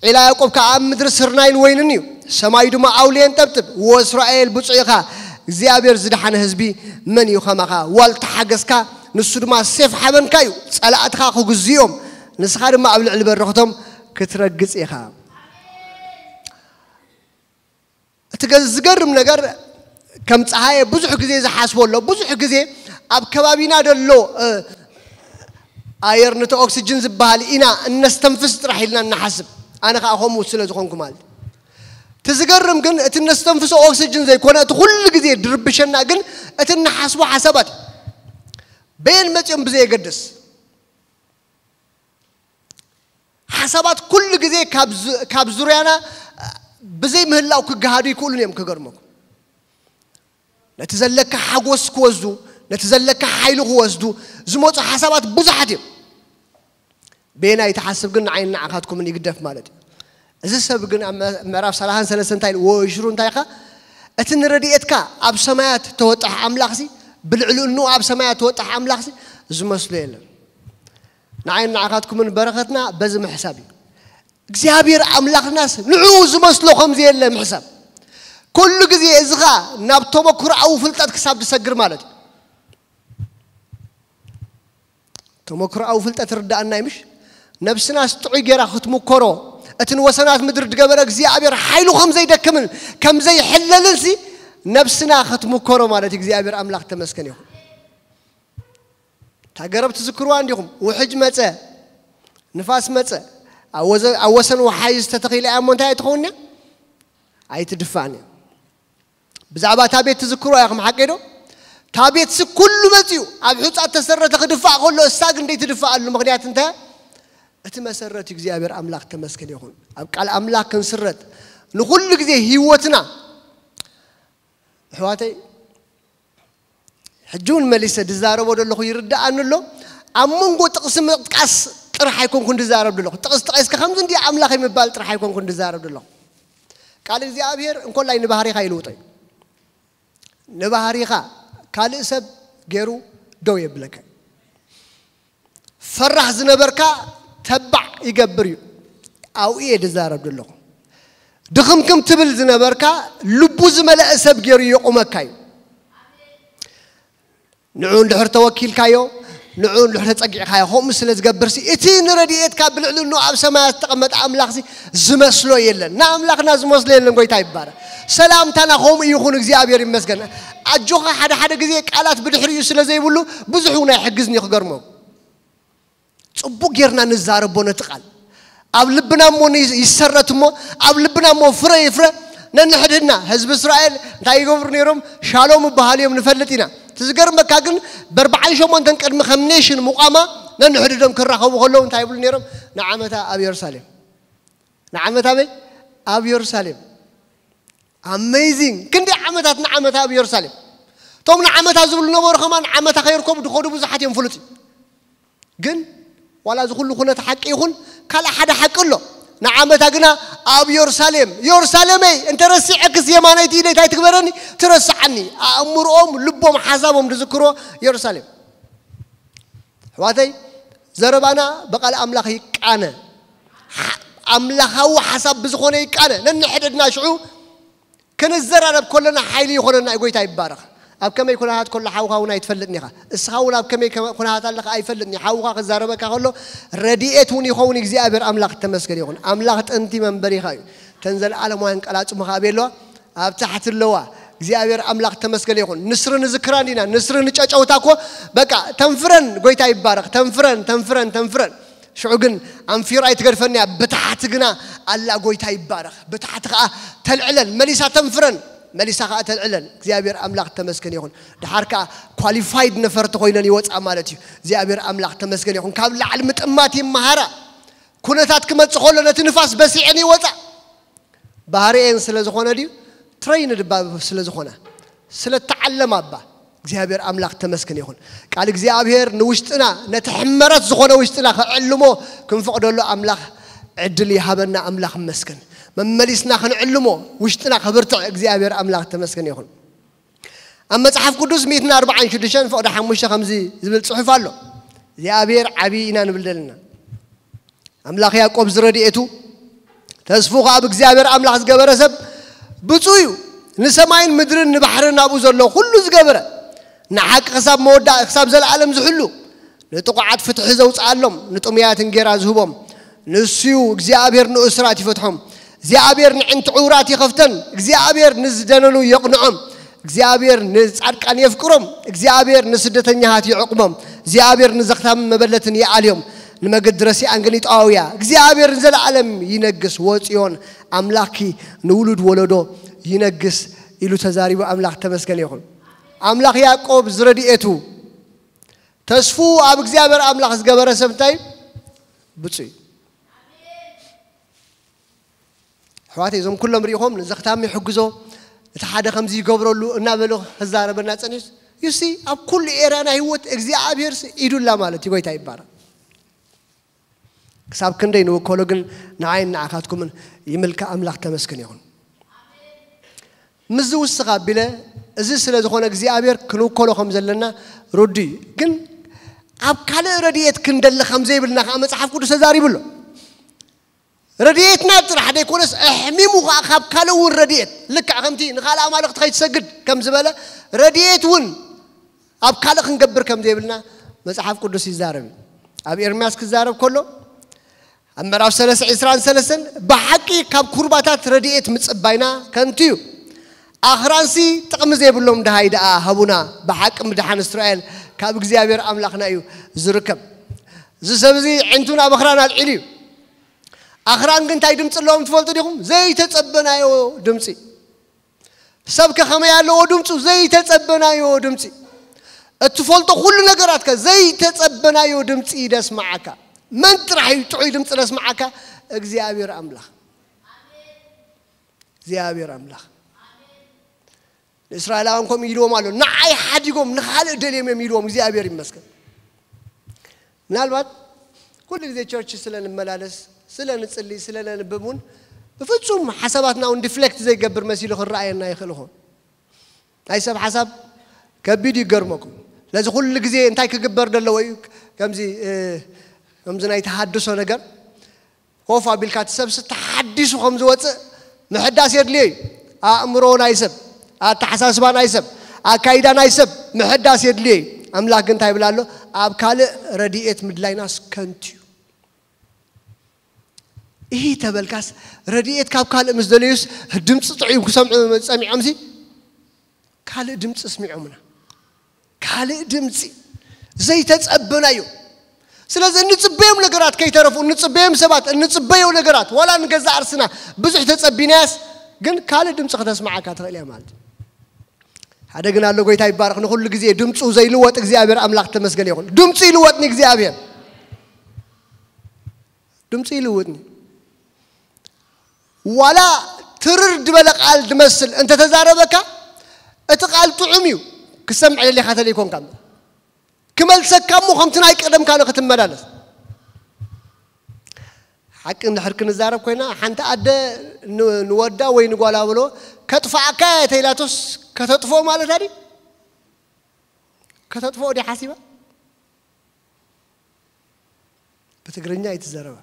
ዒላ ያዕቆብ ከኣ ኣብ ምድሪ ስርናይን ወይንን እዩ፣ ሰማዩ ድማ ኣውሊ የንጠብጥብ። ወእስራኤል ብፁዕ ኢኻ፣ እግዚኣብሔር ዝደሓነ ህዝቢ መን እዩ ከማኻ? ዋልታ ሓገዝካ፣ ንሱ ድማ ሴፍ ሓበንካ እዩ። ጸላእትኻ ክግዝዮም፣ ንስኻ ድማ ኣብ ልዕሊ በረኽቶም ክትረግጽ ኢኻ። እቲ ገ-፣ ዝገርም ነገር ከም ጸሃየ ብዙሕ ግዜ ዝሓስቦ ኣሎ። ብዙሕ ግዜ ኣብ ከባቢና ዘሎ እ፣ ኣየር ነቲ ኦክስጅን ዝበሃል ኢና እነስተንፍስ ጥራሕ ኢልና እንሓስብ። ኣነ ከዓ ከምኡ ስለ ዝኾንኩ ማለት እዩ። እቲ ዝገርም ግን እቲ እነስተንፍሶ ኦክስጅን ዘይኮነ እቲ ኩሉ ግዜ ድርብሸና ግን እቲ እንሓስቦ ሓሳባት እዩ። በየን መጺኦም ብዘየገድስ ሓሳባት ኩሉ ግዜ ካብ ዙ-፣ ካብ ዙርያና ብዘይ ምህላው ክገሃዱ ይክእሉን እዮም። ክገርመኩም ነቲ ዘለካ ሓጎስ ክወስዱ፣ ነቲ ዘለካ ሓይሊ ክወስዱ ዝመፁ ሓሳባት ብዙሓት እዮም። በየናይ ትሓስብ ግን ንዓይን ንዓኻትኩምን ይግደፍ ማለት እዩ። እዚ ሰብ ግን ኣብ መ-፣ ምዕራፍ ሰላሳን ሰለስተን እንታይ ኢሉ? ወሽሩ እንታይ ኢኻ? እቲ ንረድኤትካ ኣብ ሰማያት ተወጣሕ ኣምላኽሲ፣ ብልዕሊ እንኡ ኣብ ሰማያት ተወጣሕ ኣምላኽሲ ዝመስሎ የለን። ንዓይን ንዓኻትኩምን በረኸትና በዚ ምሕሳብ እዩ። እግዚኣብሔር ኣምላኽናስ ንዕኡ ዝመስሎ ከም ዘየለ ምሕሳብ። ኩሉ ግዜ እዚ ኸኣ ናብ ተመክሮኣዊ ፍልጠት ክሳብ ዝሰግር ማለት እዩ። ተመክሮኣዊ ፍልጠት ርዳእና እዩ ምሽ? ነብስናስ ጥዑይ ጌራ ክትምከሮ፣ እቲ ንወሰናት ምድሪ ዝገበረ እግዚኣብሔር ሓይሉ ከም ዘይደክምን ከም ዘይሕለልን ሲ ነብስና ክትምከሮ ማለት እዩ። እግዚኣብሔር ኣምላኽ ተመስገን ይኹን። እታ ገረብ ትዝክርዋ እንዲኹም? ውሕጅ መጸ፣ ንፋስ መጸ፣ ኣብ ወዘ- ኣብ ወሰን ወሓይዝ ተተኺለ እያ እሞ እንታይ ኣይትኸውን እያ? ኣይትድፋእን እያ። ብዛዕባ እታ ቤት ትዝክሮ ኢኹም ሓቀይ ዶ? እታ ቤትሲ ኩሉ መፂኡ ኣብ ሑፃ ተሰረተ ክድፋእ ከሎ እሳ ግን ደይትድፋኣሉ ምኽንያት እንታይ? እቲ መሰረት እዩ እግዚኣብሔር ኣምላኽ ተመስገን ይኹን። ኣብ ቃል ኣምላኽ ክንስረት ንኹሉ ግዜ ህይወትና ኣሕዋተይ ሕጂ እውን መሊሰ ድዛረቦ ዘለኹ ይርድኣኒ ኣሎ። ኣብ መንጎ ጥቕሲ ምጥቃስ ጥራሕ ኣይኮንኩን ድዛረብ ዘለኹ። ጥቕሲ ጠቒስካ ከምዚ እንዲ ኣምላኽ ምባል ጥራሕ ኣይኮንኩን ድዛረብ ዘለኹ። ቃል እግዚኣብሔር እንኮላይ ንባህሪኻ ይልውጦ እዩ። ንባህሪኻ ካልእ ሰብ ገይሩ ደው የብለካ። ፈራሕ ዝነበርካ ተባዕ ይገብር እዩ። ኣብኡ እየ ድዛረብ ዘለኹ። ድኽምክም ትብል ዝነበርካ ልቡ ዝመለአ ሰብ ገይሩ የቑመካ እዩ። ንዑ እንድሕር ተወኪልካዮ፣ ንዑ እንድሕር ተጸጊዕካዮ፣ ከምኡ ስለ ዝገብርሲ እቲ ንረድኤትካ ብልዕሊ እኖ ኣብ ሰማያት ዝተቐመጠ ኣምላኽሲ ዝመስሎ የለን። ንኣምላኽና ዝመስሎ የለን። ጎይታ ይባረክ። ሰላምታና ከምኡ ይኹን። እግዚኣብሔር ይመስገን። ኣጆኻ ሓደ ሓደ ግዜ ቃላት ብድሕሪኡ ስለ ዘይብሉ ብዙሕ እውን ኣይሕግዝን እዩ ክገርመው። ጽቡቅ ጌርና ንዛረቦ ነቲ ቃል ኣብ ልብና እሞ ይሰረት እሞ ኣብ ልብና እሞ ፍረ ይፍረ። ነንሕድህድና ህዝቢ እስራኤል እንታይ ይገብሩ ነይሮም? ሻሎም ይበሃሉ እዮም ንፈልጥ ኢና። እቲ ዝገርመካ ግን በርብዓን ሸሞንተን ቅድሚ ከም ኔሽን ምቋማ ነንሕድዶም ክራኸቡ ከለዉ እንታይ ይብሉ ነይሮም? ንዓመታ ኣብ የሩሳሌም ንዓመታ በይ ኣብ የሩሳሌም ኣሜዚንግ ክንዲ ዓመታት ንዓመታ ኣብ የሩሳሌም እቶም ንዓመታ ዝብሉ ነበሩ ከማን ዓመታ ከይርከቡ ድኸዱ ብዙሓት እዮም ፍሉጥ እዩ። ግን ዋላ እዚ ኩሉ ኩነት ሓቂ ይኹን ካልእ ሓደ ሓቂ ኣሎ። ንዓመታ ግና ኣብ የሩሳሌም የሩሳሌመይ እንተረሲዐክስ የማነይቲ ኢደይ እንታይ ትግበረኒ ትረስዓኒ። ኣእምርኦም ልቦም ሓሳቦም ዝዝክሮ የሩሳሌም። ኣሕዋተይ ዘረባና ብቓል ኣምላኽ ይቃነ። ኣምላኻዊ ሓሳብ ብዝኾነ ይቃነ። ነንሕድሕድና ሽዑ ክንዘራረብ ከለና ሓይሊ ይኾነና እዩ። ጎይታ ይባረኽ። ኣብ ከመይ ኩነታት ከሎ ሓውኻ እውን ኣይትፈልጥን ኢኻ። እስኻ እውን ኣብ ከመይ ኩነታት ኣለኻ ኣይፈልጥን እዩ። ሓውኻ ክዛረበካ ከሎ ረድኤት እውን ይኸውን። እግዚኣብሔር ኣምላኽ ተመስገን ይኹን። ኣምላኽ ጥንቲ መንበሪኻ እዩ። ተን ዘለዓለማውያን ቃላት ጽሙኻ ኣበይ ኣለዋ? ኣብ ታሕቲ ኣለዋ። እግዚኣብሔር ኣምላኽ ተመስገን ይኹን። ንስሪ ንዝክራ እንዲና ንስሪ ንጨጨውታ እኮ በቃ ተንፍረን። ጎይታ ይባረኽ። ተንፍረን ተንፍረን ተንፍረን። ሽዑ ግን ኣንፊራ ኣይትገድፈንያ ብታሕቲ ግና ኣላ። ጎይታ ይባረኽ። ብታሕቲ ከዓ ተልዕለን መሊሳ ተንፍረን መሊሳ ከዓ ተልዕለን። እግዚኣብሔር ኣምላኽ ተመስገን ይኹን። ድሓር ከዓ ኳሊፋይድ ነፈርቲ ኮይነን ይወፅኣ ማለት እዩ። እግዚኣብሔር ኣምላኽ ተመስገን ይኹን። ካብ ላዕሊ ምጥማት ይመሃራ። ኩነታት ክመፅእ ከሎ ነቲ ንፋስ በሲዐን ይወፃ። ባህሪኤን ስለ ዝኾነ ድዩ? ትረይንድ እባ ስለ ዝኾነ ስለ ተዓለማ እባ። እግዚኣብሔር ኣምላኽ ተመስገን ይኹን። ቃል እግዚኣብሔር ንውሽጥና ነቲ ሕመረት ዝኾነ ውሽጥና ክዕልሞ ክንፈቕደሉ ኣምላኽ ዕድል ይሃበና። ኣምላኽ ይመስገን። መመሊስና ክንዕልሞ ውሽጥና ክብርትዕ እግዚኣብሔር ኣምላኽ ተመስገን ይኹን። ኣብ መጽሓፍ ቅዱስ ሚእትን ኣርባዓን ሽዱሽተን ፍቕዲ ሓሙሽተ ከምዚ ዝብል ጽሑፍ ኣሎ። እግዚኣብሔር ዓብዪ ኢና ንብል ዘለና። ኣምላኽ ያዕቆብ ዝረድኤቱ ተስፉ ከኣ ብእግዚኣብሔር ኣምላኽ ዝገበረ ሰብ ብፁዕ እዩ። ንሰማይን ምድርን ንባሕርን ናብኡ ዘሎ ኩሉ ዝገበረ ንሓቂ ክሳብ መወዳእ ክሳብ ዘለኣለም ዝሕሉ ንጥቑዓት ፍትሒ ዘውፅኣሎም ንጥሙያት እንጌራ ዝህቦም ንሱ እዩ። እግዚኣብሔር ንእሱራት ይፈትሖም። እግዚኣብሔር ንዕንቲ ዕውራት ይኸፍተን። እግዚኣብሔር ንዝደነኑ የቕንዖም። እግዚኣብሔር ንጻድቃን የፍቅሮም። እግዚኣብሔር ንስደተኛታት ይዕቕሞም። እግዚኣብሔር ንዘኽታምን መበለትን ይኣልዮም። ንመገዲ ረሲኣን ግን ይጠዋውያ። እግዚኣብሔር ንዘለኣለም ይነግስ። ወጽዮን ኣምላኽኪ ንውሉድ ወለዶ ይነግስ ኢሉ ተዛሪቡ። ኣምላኽ ተመስገን ይኹን። ኣምላኽ ያዕቆብ ዝረድኤቱ ተስፉ ኣብ እግዚኣብሔር ኣምላኽ ዝገበረ ሰብ እንታይ ብፁዕ እዩ። ኣሕዋተይ እዞም ኩሎም ሪኢኹም ንዘኽታሚ ይሕግዞ እቲ ሓደ ከምዚ ይገብረሉ እናበሉ ክዛረበና ጸኒሑ ዩሲ ኣብ ኩሉ ኤርያ ናይ ህይወት እግዚኣብሔር ኢዱላ ማለት እዩ። ጎይታ ይባረክ። ክሳብ ክንደይ ንውከሎ ግን ንዓይን ንዓኻትኩምን ይምልካ ኣምላኽ ተመስገን ይኹን። ምስዚ ውስኽ ኣቢለ እዚ ስለ ዝኾነ እግዚኣብሔር ክንውከሎ ከም ዘለና ርዱ እዩ። ግን ኣብ ካልእ ረድኤት ክንደሊ ከም ዘይብልና ከዓ መጽሓፍ ቅዱስ ተዛሪቡ ኣሎ። ረድኤትና ጥራሕ ዘይኮነስ ኣሕሚሙ ከዓ ካብ ካልእ እውን ረድኤት ልክዕ ከምቲ ንኻልእ ኣማልኽቲ ከይትሰግድ ከም ዝበለ ረድኤት እውን ኣብ ካልእ ክንገብር ከም ዘይብልና መጽሓፍ ቅዱስ ይዛረብ እዩ። ኣብ ኤርምያስ ክዛረብ ከሎ ኣብ ምዕራፍ ሰለስተ ዕስራን ሰለስተን ብሓቂ ካብ ኩርባታት ረድኤት ምጽባይና ከንቱ እዩ። ኣኽራንሲ ጥቕሚ ዘይብሎም ድሃይ ደኣ ሃቡና። ብሓቂ ምድሓን እስራኤል ካብ እግዚኣብሔር ኣምላኽና እዩ ዝርከብ። እዚ ሰብ እዚ ዕንቱ ናብ ኣኽራን ኣልዒሉ እዩ። ኣኽራን ግን እንታይ ድምፂ ኣለዎም ትፈልጡ ዲኹም? ዘይተጸበናዮ ድምፂ። ሰብ ከ ከመይ ኣለዎ ድምፁ? ዘይተጸበናዮ ድምፂ። እትፈልጦ ኩሉ ነገራት ከ ዘይተጸበናዮ ድምፂ ደስማዓካ። መን ጥራሕ እዩ ጥዑይ ድምፂ ደስማዓካ? እግዚኣብሔር ኣምላኽ። እግዚኣብሔር ኣምላኽ። ንእስራኤላውያን ከምኡ ኢልዎም ኣሎ። ንዓይ ሓዲጎም ንኻልእ ደልዮም እዮም ኢልዎም። እግዚኣብሔር ይመስገን። ምናልባት ኩሉ ግዜ ቸርች ስለ ንመላለስ፣ ስለ ንጽሊ፣ ስለ ነንብብ እውን ብፍጹም ሓሳባትና እውን ዲፍሌክት ዘይገብር መሲሉ ክረኣየና ይኽእል ይኸውን። ናይ ሰብ ሓሳብ ከቢድ እዩ፣ ይገርመኩም። ስለዚ ኩሉ ግዜ እንታይ ክግበር ዘለዎ እዩ? ከምዚ፣ እ፣ ከምዚ ናይ ተሃድሶ ነገር ኮፍ ኣቢልካ እቲ ሰብሲ ተሓዲሱ ከም ዝወፅእ ምሕዳስ የድልዮ እዩ። ኣእምሮ ናይ ሰብ፣ ኣተሓሳስባ ናይ ሰብ፣ ኣካይዳ ናይ ሰብ ምሕዳስ የድልዮ እዩ። ኣምላኽ ግን እንታይ ይብል ኣሎ? ኣብ ካልእ ረድኤት ምድላይናስ ከንቱ እዩ። ይህ ተበልካስ ረድኤት ካብ ካልእ ምስ ደለዩስ ድምፂ ጥዑም ክሰምዑ ጸሚዖምሲ ካልእ ድምፂ ስሚዖምና። ካልእ ድምፂ ዘይተጸበናዮ። ስለዚ እንጽበዮም ነገራት ከይተረፉ፣ እንጽበዮም ሰባት፣ እንጽበዮ ነገራት፣ ዋላ ንገዛእ ኣርስና ብዙሕ ተጸቢናያስ፣ ግን ካልእ ድምፂ ከተስምዓካ ትኽእል እያ ማለት እዩ። ሓደ ግን ኣሎ፣ ጎይታ ይባረኽ፣ ንኹሉ ግዜ ድምፁ ዘይልወጥ እግዚኣብሔር ኣምላኽ ተመስገን ይኹን። ድምፁ ይልወጥኒ እግዚኣብሔር። ድምፁ ይልውጥኒ። ዋላ ትርር ዝበለ ቃል ድመስል እንተተዛረበካ፣ እቲ ቃል ጥዑም እዩ፣ ክሰምዕ ደሊኻ ተለይኮንካ እምበር። ክመልሰካ እሞ ከምቲ ናይ ቀደምካ ንክትመላለስ። ሓቂ እንድሕር ክንዛረብ ኮይና፣ ሓንቲ ኣደ ን-፣ ንወዳ ወይ ንጓላ ብሎ፣ "ከጥፍኣካ እየ" ተኢላቶስ ከተጥፍኦ ማለታ ድዩ? ከተጥፍኦ ድያ ሓሲባ? ብትግርኛ ኣይትዛረባ።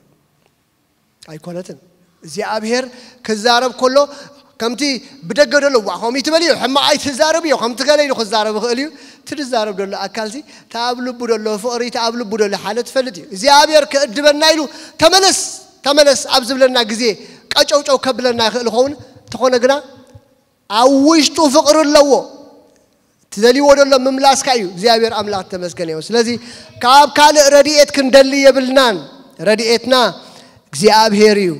ኣይኮነትን። እግዚኣብሔር ክዛረብ ከሎ ከምቲ ብደገ ዘሎ፣ "ዋ፣ ከምኡ ትበል እዩ፣ ሕማቕ ኣይትዛረብ እዩ፣ ከምቲ ገለ" ኢሉ ክዛረብ ይኽእል እዩ። እቲ ዝዛረብ ዘሎ ኣካልሲ፣ እቲ ኣብ ልቡ ዘሎ ፍቕሪ፣ እቲ ኣብ ልቡ ዘሎ ሓለ ትፈልጥ እዩ። እግዚኣብሔር ክእድበና ኢሉ፣ "ተመለስ፣ ተመለስ" ኣብ ዝብለና ግዜ፣ ቀጨውጨው ከብለና ይኽእል ይኸውን። እንተኾነ ግና፣ ኣብ ውሽጡ ፍቕሪ ኣለዎ። ትደልይዎ ዘሎ ምምላስካ እዩ። እግዚኣብሔር ኣምላኽ ተመስገን ይሁን። ስለዚ ካብ ካልእ ረድኤት ክንደሊ የብልናን። ረድኤትና እግዚኣብሔር እዩ።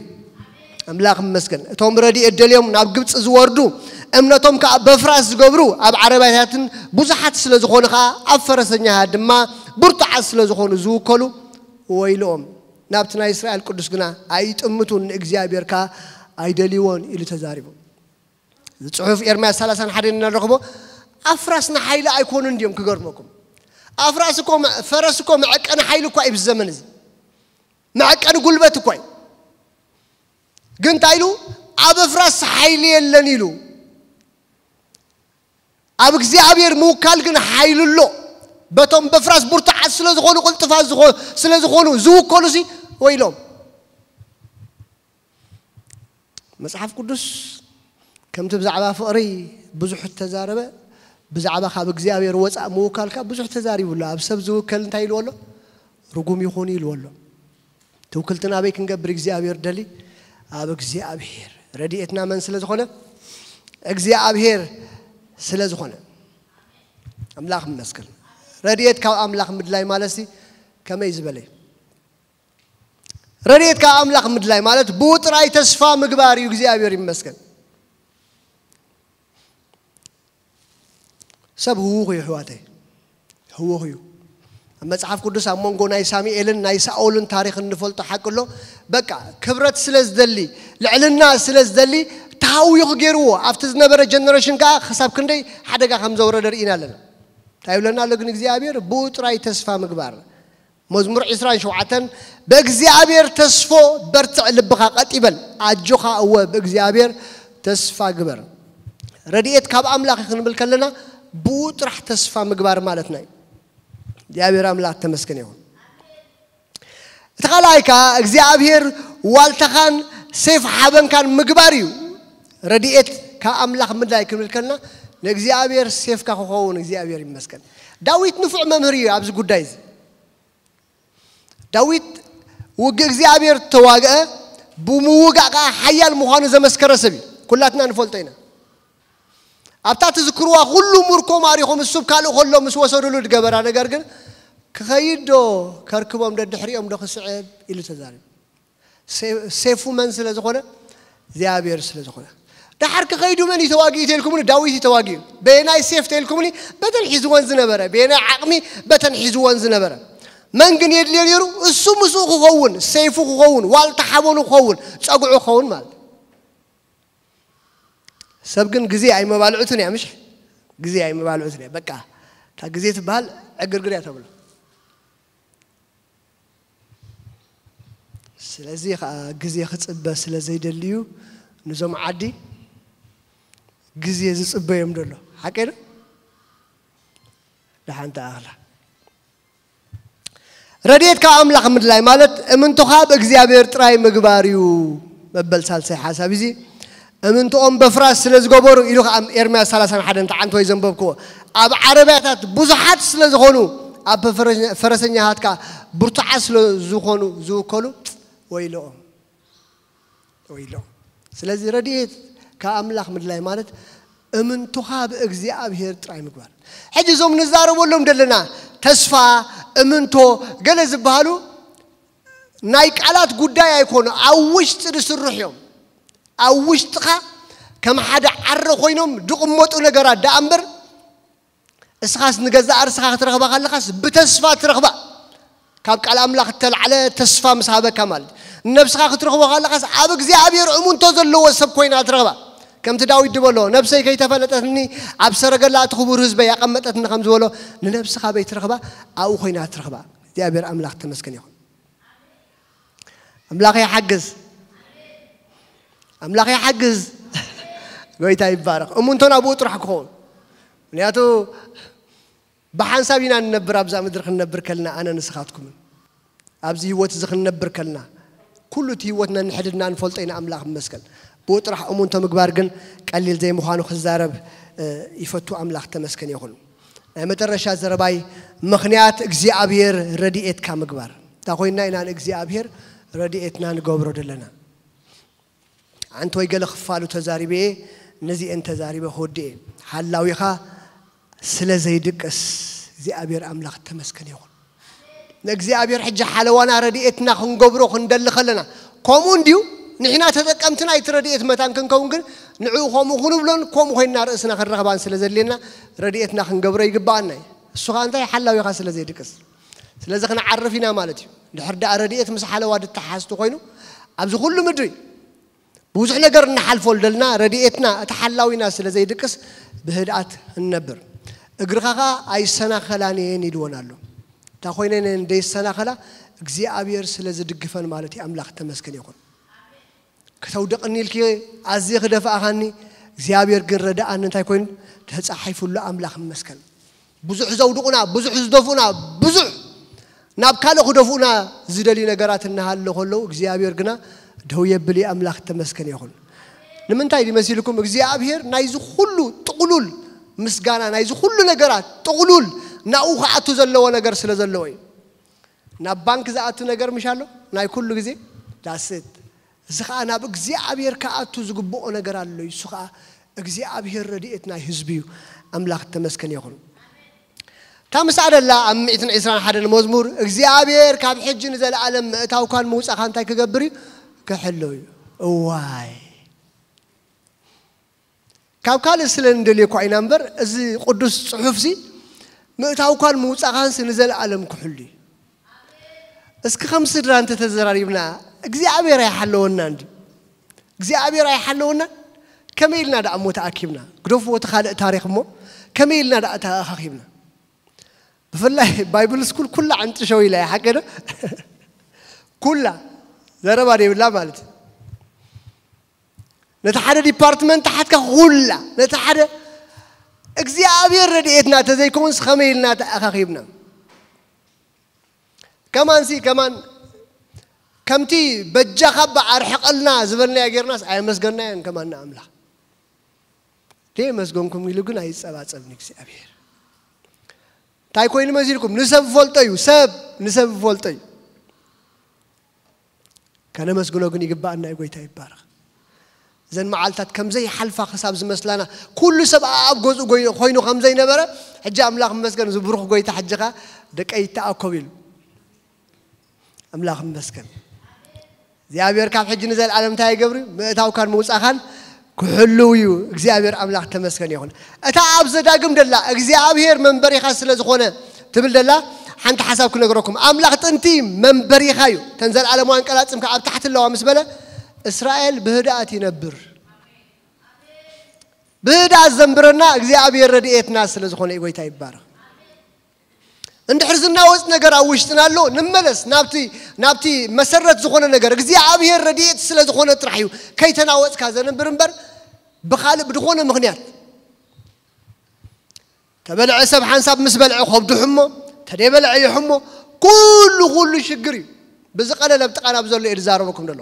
ኣምላኽ ይመስገን። እቶም ረድኤት ደልዮም ናብ ግብፂ ዝወርዱ፣ እምነቶም ከዓ በፍራስ ዝገብሩ፣ ኣብ ዓረባታትን ብዙሓት ስለ ዝኾኑ ከዓ፣ ኣብ ፈረሰኛታት ድማ ብርቱዓት ስለ ዝኾኑ ዝውከሉ ወይልኦም። ናብቲ ናይ እስራኤል ቅዱስ ግና ኣይጥምቱን፣ ንእግዚኣብሔር ከዓ ኣይደልይዎን ኢሉ ተዛሪቡ። እዚ ጽሑፍ ኤርምያስ ሰላሳን ሓደን እንረኽቦ፣ ኣፍራስ ንሓይሊ ኣይኮኑን ድዮም? ክገርመኩም። ኣፍራስ እኮ መ-፣ ፈረስ እኮ መዐቀኒ ሓይሊ እኳ እዩ ብዚ ዘመን እዚ። መዐቀኒ ጉልበት እኳ እዩ። ግን እንታይ ኢሉ? "ኣብ ኣፍራስ ሓይሊ የለን" ኢሉ። ኣብ እግዚኣብሔር ምውካል ግን ሓይሊ ኣሎ። በቶም በፍራስ ብርቱዓት ስለ ዝኾኑ፣ ቅልጥፋት ዝኾ-፣ ስለ ዝኾኑ ዝውከሉ ሲ ወይሎም። መጽሓፍ ቅዱስ ከምቲ ብዛዕባ ፍቕሪ ብዙሕ እተዛረበ፣ ብዛዕባ ካብ እግዚኣብሔር ወጻእ ምውካልካ ብዙሕ ተዛሪቡ ኣሎ። ኣብ ሰብ ዝውከል እንታይ ኢልዎ ኣሎ? ርጉም ይኹን ኢልዎ ኣሎ። ትውክልትና ኣበይ ክንገብር እግዚኣብሔር ደሊ? ኣብ እግዚኣብሔር። ረድኤትና መን ስለ ዝኾነ? እግዚኣብሔር ስለ ዝኾነ። ኣምላኽ ይመስገን። ረድኤት ካብ ኣምላኽ ምድላይ ማለት ሲ ከመይ ዝበለ እዩ? ረድኤት ካብ ኣምላኽ ምድላይ ማለት ብኡ ጥራይ ተስፋ ምግባር እዩ። እግዚኣብሔር ይመስገን። ሰብ ህዉኽ እዩ፣ ኣሕዋተይ፣ ህዉኽ እዩ። ኣብ መጽሓፍ ቅዱስ ኣብ መንጎ ናይ ሳሙኤልን ናይ ሳኦልን ታሪኽ እንፈልጦ ሓቂ ኣሎ። በቃ፣ ክብረት ስለ ዝደሊ፣ ልዕልና ስለ ዝደሊ፣ ተሃዊኹ ገይርዎ። ኣብቲ ዝነበረ ጀነሬሽን ከኣ ክሳብ ክንደይ ሓደጋ ከም ዘውረደ ርኢና ኣለና። እንታይ ይብለና ኣሎ ግን እግዚኣብሔር? ብኡ ጥራይ ተስፋ ምግባር። መዝሙር ዕስራን ሸውዓተን፣ "ብእግዚኣብሔር ተስፎ በርትዕ፣ ልብኻ ቀጥ ይበል፣ ኣጆኻ፣ እወ፣ ብእግዚኣብሔር ተስፋ ግበር።" ረድኤት ካብ ኣምላኽ እዩ ክንብል ከለና፣ ብኡ ጥራሕ ተስፋ ምግባር ማለትና እዩ። እግዚኣብሔር ኣምላኽ ተመስገን ይኹን። እቲ ካልኣይ ከኣ እግዚኣብሔር ዋልታኻን ሴፍ ሓበንካን ምግባር እዩ። ረድኤት ካብ ኣምላኽ ምድላይ ክንብል ከለና፣ ንእግዚኣብሔር ሴፍካ ክኸውን እግዚኣብሔር ይመስገን። ዳዊት ንፉዕ መምህር እዩ ኣብዚ ጉዳይ እዚ። ዳዊት ውግእ እግዚኣብሔር ተዋግአ፣ ብምውጋእ ከኣ ሓያል ምዃኑ ዘመስከረ ሰብ እዩ። ኩላትና ንፈልጦ ኢና። ኣብታ ትዝክርዋ ኩሉ ምርኮ ማሪኾም እሱ ካልእ ከሎ ምስ ወሰዱሉ ዝገበራ ነገር ግን፣ "ክኸይድ ዶ ከርክቦም ደድሕሪኦም ዶ ክስዕብ?" ኢሉ ተዛሪቡ። ሴ- ሴፉ መን ስለ ዝኾነ? እግዚኣብሔር ስለ ዝኾነ። ደሓር ክኸይዱ መን እዩ ተዋጊኡ ተልኩምኒ? ዳዊት እዩ ተዋጊኡ። በየናይ ሴፍ ተልኩምኒ? በተን ሒዝወን ዝነበረ፣ በየናይ ዓቕሚ? በተን ሒዝወን ዝነበረ። መን ግን የድልዮ ነይሩ? እሱ ምስኡ ክኸውን፣ ሴፉ ክኸውን፣ ዋልታ ሓበኑ ክኸውን፣ ጸጉዑ ክኸውን ማለት። ሰብ ግን ግዜ ኣይመባልዑትን እያ። ምሽ ግዜ ኣይመባልዑትን እያ። በቃ እታ ግዜ ትበሃል ዕግርግር እያ ተብሎ። ስለዚ ከዓ ግዜ ክፅበ ስለ ዘይደልዩ፣ ንዞም ዓዲ ግዜ ዝፅበዮም ደሎ ሓቂ ዶ? ደሓን ተኣኽላ። ረድኤት ካብ ኣምላኽ ምድላይ ማለት እምንቶኻ ብእግዚኣብሔር ጥራይ ምግባር እዩ። መበል ሳልሳይ ሓሳብ እዚ እምንቶኦም በፍራስ ስለ ዝገበሩ ኢሉ ከዓ ኤርምያስ ሰላሳን ሓደን ተዓንቶ እዩ ዘንበብክዎ። ኣብ ዓረብያታት ብዙሓት ስለ ዝኾኑ ኣብ ፈረሰኛታትካ ብርቱዓት ስለ ዝኾኑ ዝውከሉ ወይልኦም። ወይልኦም። ስለዚ ረድኤት ካብ ኣምላኽ ምድላይ ማለት እምንቶኻ ብእግዚኣብሔር ጥራይ ምግባር። ሕጂ እዞም ንዛረበሎም ዘለና ተስፋ፣ እምንቶ፣ ገለ ዝበሃሉ ናይ ቃላት ጉዳይ ኣይኮኑ፣ ኣብ ውሽጢ ዝስርሑ እዮም። ኣብ ውሽጥኻ ከም ሓደ ዓረ ኮይኖም ዝቕመጡ ነገራት ደኣ እምበር እስኻስ ንገዛእ ርእስኻ ክትረኽባ ከለኻስ ብተስፋ ትረኽባ። ካብ ቃል ኣምላኽ እተላዕለ ተስፋ ምስ ሃበካ ማለት ንነብስኻ ክትረኽቦ ከለኻስ ኣብ እግዚኣብሔር እሙንቶ ዘለዎ ሰብ ኮይና ትረኽባ። ከምቲ ዳዊት ዝበሎ ነብሰይ ከይተፈለጠትኒ ኣብ ሰረገላ እቲ ክቡር ህዝበይ ያቐመጠትኒ ከም ዝበሎ ንነብስኻ በይትረኽባ ኣብኡ ኮይና ትረኽባ። እግዚኣብሔር ኣምላኽ ተመስገን ይኹን። ኣምላኽ ይሓግዝ። ኣምላኽ ይሓግዝ። ጎይታ ይባረኽ። እሙንቶና ብኡ ጥራሕ ክኸውን። ምክንያቱ ብሓንሳብ ኢና ንነብር ኣብዛ ምድሪ ክንነብር ከልና ኣነ ንስኻትኩምን ኣብዚ ህይወት እዚ ክንነብር ከልና ኩሉ እቲ ህይወትና ንሕድድና ንፈልጦ ኢና። ኣምላኽ ይመስገን። ብኡ ጥራሕ እሙንቶ ምግባር ግን ቀሊል ዘይምዃኑ ክዛረብ ይፈቱ። ኣምላኽ ተመስገን ይኹን። ናይ መጨረሻ ዘረባይ ምኽንያት እግዚኣብሔር ረድኤትካ ምግባር እንታይ ኮይንና ኢና ንእግዚኣብሔር ረድኤትና ንገብሮ ዘለና? ኣንተ ወይ ገለ ክፋሉ ተዛሪበ እየ፣ ነዚአን ተዛሪበ ክወድእ እየ። ሓላዊኻ ስለ ዘይድቅስ እግዚኣብሔር ኣምላኽ ተመስገን ይኹን። ንእግዚኣብሔር ሕጂ ሓለዋና ረድኤትና ክንገብሮ ክንደሊ ከለና ከምኡ እንድዩ። ንሕና ተጠቀምቲ ናይቲ ረድኤት መታን ክንከውን ግን ንዕኡ ከምኡ ክንብሎን ከምኡ ኮይንና ርእስና ክንረኽባን ስለ ዘድልየና ረድኤትና ክንገብሮ ይግባኣና እዩ። እሱ ኸኣ እንታይ ሓላዊኻ ስለ ዘይድቅስ ስለዚ ክንዓርፍ ኢና ማለት እዩ። ድሕር ደኣ ረድኤት ምስ ሓለዋ ድተሓዝቲ ኮይኑ ኣብዚ ኩሉ ምድሪ ብዙሕ ነገር እናሓልፎ ደልና ረድኤትና እቲ ሓላዊና ስለ ዘይድቅስ ብህድኣት እንነብር። እግርኻ ኸዓ ኣይሰናኸላን እየን ኢልወን ኣሎ። እታ ኮይነን እየን ደይሰናኸላ እግዚኣብሔር ስለ ዝድግፈን ማለት እዩ። ኣምላኽ ተመስገን ይኹን። ከተውድቕኒ ኢልኪ ኣዝየ ክደፍኣኻኒ እግዚኣብሔር ግን ረድኣኒ እንታይ ኮይኑ ተፃሒፉሉ ኣምላኽ ይመስገን። ብዙሕ ዘውድቑና ብዙሕ ዝደፉና ብዙሕ ናብ ካልእ ክደፍኡና ዝደልዩ ነገራት እናሃለ ከለዉ እግዚኣብሔር ግና ደው የብል እዩ። ኣምላኽ ተመስገን ይኹን። ንምንታይ ድዩ መሲልኩም እግዚኣብሔር ናይዚ ኩሉ ጥቕሉል ምስጋና ናይዚ ኩሉ ነገራት ጥቕሉል ናብኡ ክኣቱ ዘለዎ ነገር ስለ ዘለዎ እዩ። ናብ ባንክ ዝኣቱ ነገር ምሽ ኣሎ ናይ ኩሉ ግዜ ዳስት እዚ ከዓ ናብ እግዚኣብሔር ክኣቱ ዝግብኦ ነገር ኣሎ እዩ። እሱ ከዓ እግዚኣብሔር ረድኤት ናይ ህዝቢ እዩ። ኣምላኽ ተመስገን ይኹን። እታ ምስኣ ደላ ኣብ ሚእትን ዕስራን ሓደን መዝሙር እግዚኣብሔር ካብ ሕጂ ንዘለኣለም ምእታውካን ምውፃእካ እንታይ ክገብር እዩ? ክሕሎ እዩ። እዋይ ካብ ካልእ ስለ ንደልዮ እኳ ኢና እምበር እዚ ቅዱስ ፅሑፍሲ ምእታውካን ምውፃእካንሲ ንዘለኣለም ክሕሉ እዩ። እስኪ ከም ስድራ እንተተዘራሪብና እግዚኣብሔር ኣይሓለወና እንዲ እግዚኣብሔር ኣይሓለወና ከመይ ኢልና ደኣ እሞ ተኣኪብና ግደፍዎ እቲ ካልእ ታሪክ እሞ ከመይ ኢልና ደኣ ተኣኻኪብና ብፍላይ ባይብል ስኩል ኩላ ዕንጥሸው ኢላ እያ ሓቂ ዶ ኩላ ዘረባ ደይብላ ማለት እዩ ነቲ ሓደ ዲፓርትመንት ሓትካ ኩላ ነቲ ሓደ እግዚኣብሔር ረድኤትና ተዘይከውንስ ከመይ ኢልና ተኣኻኺብና ከማንሲ ከማን ከምቲ በጃኻ እባ ኣርሕቐልና ዝበልናዮ ጌርናስ ኣየመስገንናዮን ከማን ንኣምላኽ ደየመስገንኩም ኢሉ ግን ኣይጸባጸብን እግዚኣብሔር እንታይ ኮይኑ መሲልኩም ንሰብ ፈልጦ እዩ ሰብ ንሰብ ፈልጦ እዩ ከነመስግኖ ግን ይግባኣና እዩ ጎይታ ይባረኽ እዘን መዓልታት ከምዘይ ሓልፋ ክሳብ ዝመስላና ኩሉ ሰብ ኣብ ገዝኡ ኮይኑ ከምዘይ ነበረ ሕጂ ኣምላኽ መስገን ዝብሩኽ ጎይታ ሕጂ ኸ ደቀይ ይተኣኮብ ኢሉ ኣምላኽ መስገን እግዚኣብሔር ካብ ሕጂ ንዘለዓለም እንታይ ይገብር እዩ? ምእታውካን ምውፃእካን ክሕልው እዩ። እግዚኣብሔር ኣምላኽ ተመስገን ይኹን። እታ ኣብ ዘዳግም ደላ እግዚኣብሔር መንበሪኻ ስለ ዝኾነ ትብል ደላ ሓንቲ ሓሳብ ክነግረኩም። ኣምላኽ ጥንቲ መንበሪኻ እዩ። ተን ዘለዓለማውያን ቀላጽም ከኣ ኣብ ታሕቲ ኣለዋ ምስ በለ እስራኤል ብህድኣት ይነብር። ብህድኣት ዘንብረና እግዚኣብሔር ረድኤትና ስለ ዝኾነ እዩ። ጎይታ ይባረኽ። እንድሕር ዝናወጽ ነገር ኣብ ውሽጥና ኣሎ፣ ንመለስ ናብቲ ናብቲ መሰረት ዝኾነ ነገር እግዚኣብሔር ረድኤት ስለ ዝኾነ ጥራሕ እዩ ከይተናወጽካ ዘንብር እምበር ብኻልእ ብድኾነ ምኽንያት ተበልዐ ሰብ ሓንሳብ ምስ በልዐ ከብዱ ሕሞ ተደይበልዐ ይሕሞ ኩሉ ኩሉ ሽግር እዩ። ብዝቐለለ ኣብ ጥቓና ብዘሎ እየ ዝዛረበኩም ዘሎ።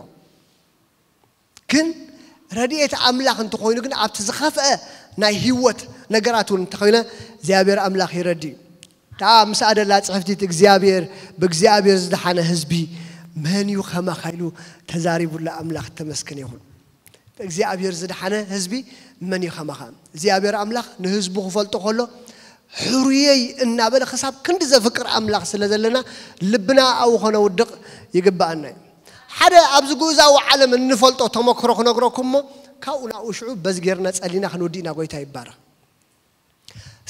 ግን ረድኤት ኣምላኽ እንተኾይኑ ግን ኣብቲ ዝኸፍአ ናይ ህይወት ነገራት እውን እንተኾይነ እግዚኣብሔር ኣምላኽ ይረዲ እዩ። እታ ምስኣ ደላ ጽሕፍቲት እግዚኣብሔር ብእግዚኣብሔር ዝደሓነ ህዝቢ መን እዩ ከማኻ ኢሉ ተዛሪቡላ ኣምላኽ ተመስገን ይኹን። ብእግዚኣብሔር ዝደሓነ ህዝቢ መን እዩ ከማኻ? እግዚኣብሔር ኣምላኽ ንህዝቡ ክፈልጦ ከሎ ሕሩየይ እናበለ ክሳብ ክንዲ ዘፍቅር ኣምላኽ ስለ ዘለና ልብና ኣብኡ ከነውድቕ ይግብኣና እዩ። ሓደ ኣብዚ ግኡዛዊ ዓለም እንፈልጦ ተመክሮ ክነግረኩም እሞ ካብኡ ናብኡ ሽዑ በዚ ጌርና ጸሊና ክንወዲ ኢና። ጎይታ ይባረኽ።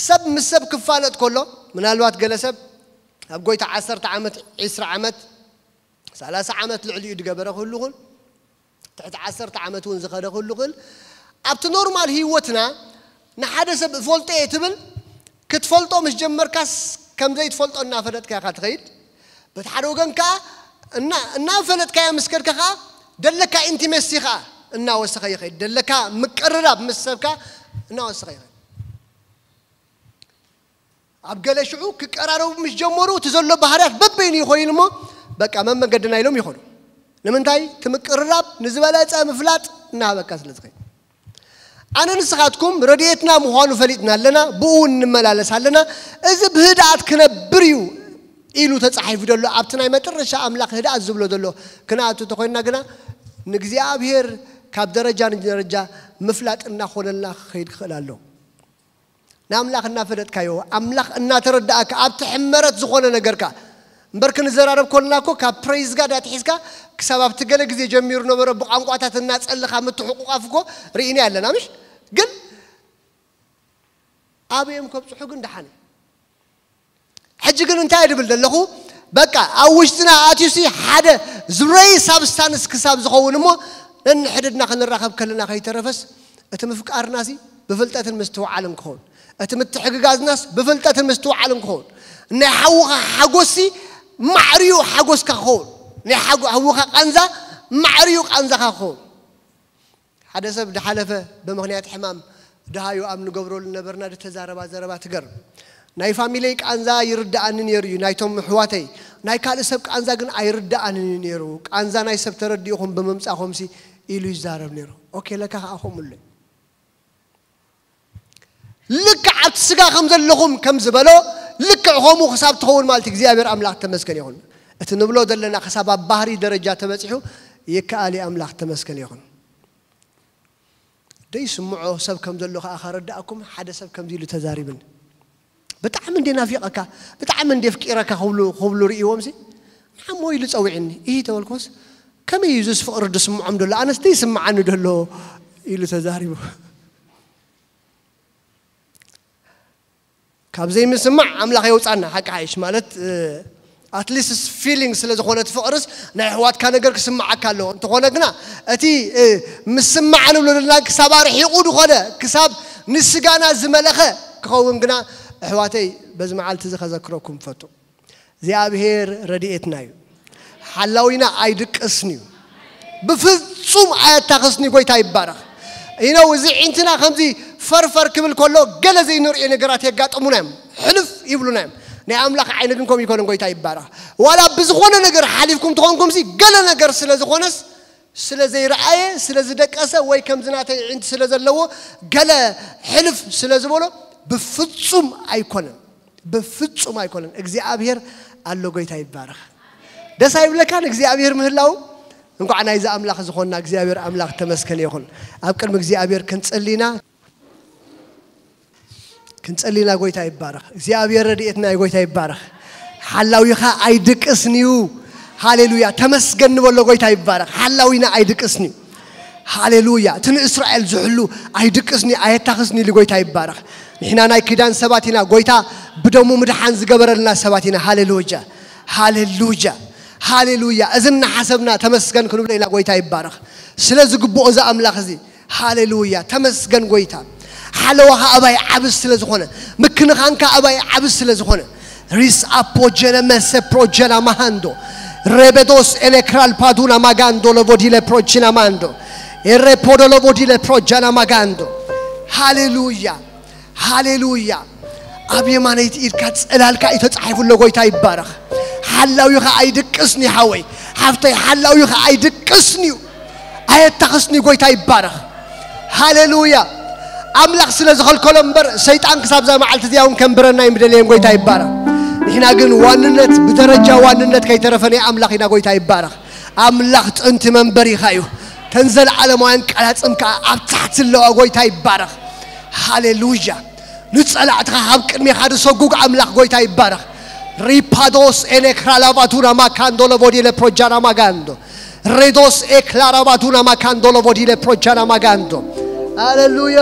ሰብ ምስ ሰብ ክፋለጥ ከሎ ምናልባት ገለ ሰብ ኣብ ጎይታ ዓሰርተ ዓመት ዒስራ ዓመት ሰላሳ ዓመት ልዕሊኡ ዝገበረ ክህሉ ይኽእል። ትሕቲ ዓሰርተ ዓመት እውን ዝኸደ ክህሉ ይኽእል። ኣብቲ ኖርማል ህይወትና ንሓደ ሰብ እፈልጦ እየ ትብል ክትፈልጦ ምስ ጀመርካስ ከም ዘይትፈልጦ እናፈለጥካ ኢኻ ትኸይድ። በቲ ሓደ ወገን ከኣ እና እናፈለጥካዮ ምስ ከድካ ከኣ ደለካ ኢንቲሜሲ ከኣ እናወሰኸ ይኸይድ። ደለካ ምቅርራብ ምስ ሰብካ እናወሰኸ ይኸይድ። ኣብ ገለ ሽዑ ክቀራረቡ ምስ ጀመሩ እቲ ዘሎ ባህርያት በበይኑ ይኾይን እሞ በቃ መመንገድና ኢሎም ይኾኑ። ንምንታይ? እቲ ምቅርራብ ንዝበለጸ ምፍላጥ እናሃበካ ስለ ዝኸይድ። ኣነ ንስኻትኩም ረድኤትና ምዃኑ ፈሊጥና ኣለና፣ ብኡ እውን ንመላለስ ኣለና። እዚ ብህድኣት ክነብር እዩ ኢሉ ተጻሒፉ ዘሎ ኣብቲ ናይ መጨረሻ ኣምላኽ ህድኣት ዝብሎ ዘሎ ክንኣቱ እንተኾይንና ግና ንእግዚኣብሔር ካብ ደረጃ ንደረጃ ምፍላጥ እናኾነልና ክኸይድ ክኽእል ኣሎ። ንኣምላኽ እናፈለጥካዮ ኣምላኽ እናተረዳእካ ኣብቲ ሕመረት ዝኾነ ነገርካ እምበር ክንዘራረብ ኮልና እኮ ካብ ፕሬዝ ጋድ ኣትሒዝካ ክሳብ ኣብቲ ገለ ግዜ ጀሚሩ ነበረ ብቋንቋታት እናጸለኻ ምትሕቁቋፍ እኮ ርኢና ኣለና ምሽ ግን ኣበዮም ከብጽሑ ግን ደሓነ። ሕጂ ግን እንታይ ድብል ዘለኹ በቃ ኣብ ውሽጥና ኣትዩሲ ሓደ ዝብረይ ሳብስታንስ ክሳብ ዝኸውን እሞ ነንሕድድና ክንራኸብ ከለና ከይተረፈስ እቲ ምፍቃርና ሲ ብፍልጠትን ምስትውዓልን ክኸውን እቲ ምትሕግጋዝናስ ብፍልጠትን ምስትውዓልን ክኸውን ናይ ሓውኻ ሓጎስሲ ማዕርዩ ሓጎስካ ክኸውን ናይ ሓውኻ ቃንዛ ማዕርዩ ቃንዛኻ ክኸውን ሓደ ሰብ ድሓለፈ ብምኽንያት ሕማም ድሃዩ ኣብ ንገብረሉ ነበርና ድተዛረባ ዘረባ ትገርም ናይ ፋሚለይ ቃንዛ ይርድኣኒ ነይሩ እዩ ናይቶም ምሕዋተይ ናይ ካልእ ሰብ ቃንዛ ግን ኣይርድኣንን እዩ ነይሩ ቃንዛ ናይ ሰብ ተረዲእኹም ብምምፃኹምሲ ኢሉ ይዛረብ ነይሩ ኦኬ ለካ ከዓ ከምኡ ኣሎ ልክዕ ኣብቲ ስጋ ከም ዘለኹም ከም ዝበሎ ልክዕ ከምኡ ክሳብ ትኸውን ማለት እግዚኣብሔር ኣምላኽ ተመስገን ይኹን እቲ ንብሎ ዘለና ክሳብ ኣብ ባህሪ ደረጃ ተበፂሑ ይከኣል ኣምላኽ ተመስገን ይኹን ደይስምዖ ሰብ ከም ዘሎ ከዓ ከረዳእኩም ሓደ ሰብ ከምዚ ኢሉ ተዛሪብን ብጣዕሚ እንደ ናፊቐካ ብጣዕሚ እንደ ፍቂረካ ክብሉ ክብሉ ርእይዎም ሲ ንዓሞ ኢሉ ፀዊዕኒ ይህ ተበልኮስ ከመይ እዩ ዝስ ፍቅሪ ድስምዖም ደሎ ኣነስ ደይስምዓኒ ደሎ ኢሉ ተዛሪቡ ካብ ዘይምስማዕ ኣምላኽ የውፃና ሓቂ ሓይሽ ማለት ኣትሊስት ፊሊንግ ስለ ዝኾነት ፍቕርስ ናይ ኣሕዋትካ ነገር ክስምዓካ ኣለዎ እንተኾነ ግና እቲ ምስማዕ ንብሎ ዘለና ክሳብ ኣርሒቑ ዝኾነ ክሳብ ንስጋና ዝመለኸ ክኸውን ግና ኣሕዋተይ በዚ መዓልቲ እዚ ከዘክረኩም ፈቱ እግዚኣብሔር ረድኤትና እዩ ሓላዊና ኣይድቅስን እዩ ብፍጹም ኣየታኸስኒ ጎይታ ይባረኽ ኢነው እዚ ዒንትና ከምዚ ፈርፈር ክብል ከሎ ገለ ዘይንርእዮ ነገራት የጋጥሙና እዮም ሕልፍ ይብሉና እዮም ናይ ኣምላኽ ዓይኒ ግን ከም ይኮነ ጎይታ ይባረኽ ዋላ ብዝኾነ ነገር ሓሊፍኩም ትኾንኩም ሲ ገለ ነገር ስለ ዝኾነስ ስለ ዘይረኣየ ስለ ዝደቀሰ ወይ ከምዚ ናተይ ዒንቲ ስለ ዘለዎ ገለ ሕልፍ ስለ ዝበሎ ብፍጹም ኣይኮነን ብፍጹም ኣይኮነን እግዚኣብሔር ኣሎ ጎይታ ይባረኽ ደስ ኣይብለካን እግዚኣብሔር ምህላው እንኳዕ ናይዚ ኣምላኽ ዝኾንና እግዚኣብሔር ኣምላኽ ተመስገን ይኹን ኣብ ቅድሚ እግዚኣብሔር ክንጽሊና ክንጽሊና ጎይታ ይባረኽ እግዚኣብሔር ረድኤትና ጎይታ ይባረኽ ሓላዊኻ ኣይድቅስንዩ ሃሌሉያ። ተመስገን ንበሎ። ጎይታ ይባረኽ። ሓላዊና ኣይድቅስን እዩ። ሃሌሉያ። እቲ ንእስራኤል ዝሕሉ ኣይድቅስን እዩ፣ ኣየታኽስን ኢሉ ጎይታ ይባረኽ። ንሕና ናይ ኪዳን ሰባት ኢና። ጎይታ ብደሙ ምድሓን ዝገበረልና ሰባት ኢና። ሃሌሉያ። ሃሌሉያ። ሃሌሉያ። እዚ እናሓሰብና ተመስገን ክንብሎ ኢና። ጎይታ ይባረኽ። ስለ ዝግብኦ እዚ ኣምላኽ እዚ። ሃሌሉያ። ተመስገን ጎይታ። ሓለዋኻ ኣባይ ዓብስ ስለ ዝኾነ፣ ምክንኻንካ ኣባይ ዓብስ ስለ ዝኾነ። ሪስ ኣፖጀነ መሰ ፕሮጀና ማሃንዶ፣ ሬቤዶስ ኤሌክራል ፓዱና ማጋንዶ ለቮዲለ ፕሮጂና ማንዶ፣ ኤሬፖዶ ለቮዲለ ፕሮጃና ማጋንዶ። ሃሌሉያ። ሃሌሉያ። ኣብ የማነይቲ ኢድካ ጽላልካ እዩ ተጻሒፉ ኣሎ። ጎይታ ይባረኽ። ሓላዊኻ ኣይድቅስን እዩ ሓወይ፣ ሓፍተይ፣ ሓላዊኻ ኣይድቅስን እዩ፣ ኣየታኽስን እዩ። ጎይታ ይባረኽ። ሃሌሉያ። ኣምላኽ ስለ ዝኸልከሎ እምበር ሰይጣን ክሳብ እዛ መዓልቲ እዚኣ እውን ከንብረና እዩ ምደለየን። ጎይታ ይባረኽ። ንሕና ግን ዋንነት ብደረጃ ዋንነት ከይተረፈ ናይ ኣምላኽ ኢና። ጎይታ ይባረኽ። ኣምላኽ ጥንቲ መንበሪኻ እዩ። ተን ዘለዓለማውያን ቀላጽም ከዓ ኣብ ታሕቲ ኣለዋ። ጎይታ ይባረኽ። ሃሌሉያ። ንጸላእትኻ ካብ ቅድሜኻ ዝሰጉግ ኣምላኽ ጎይታ ይባረኽ። ሪፓዶስ ኤኔክራላባቱና ማካንዶ ለቦዲለ ፕሮጃና ማጋንዶ፣ ሬዶስ ኤክላራባቱና ማካንዶ ለቦዲለ ፕሮጃና ማጋንዶ። ሃሌሉያ።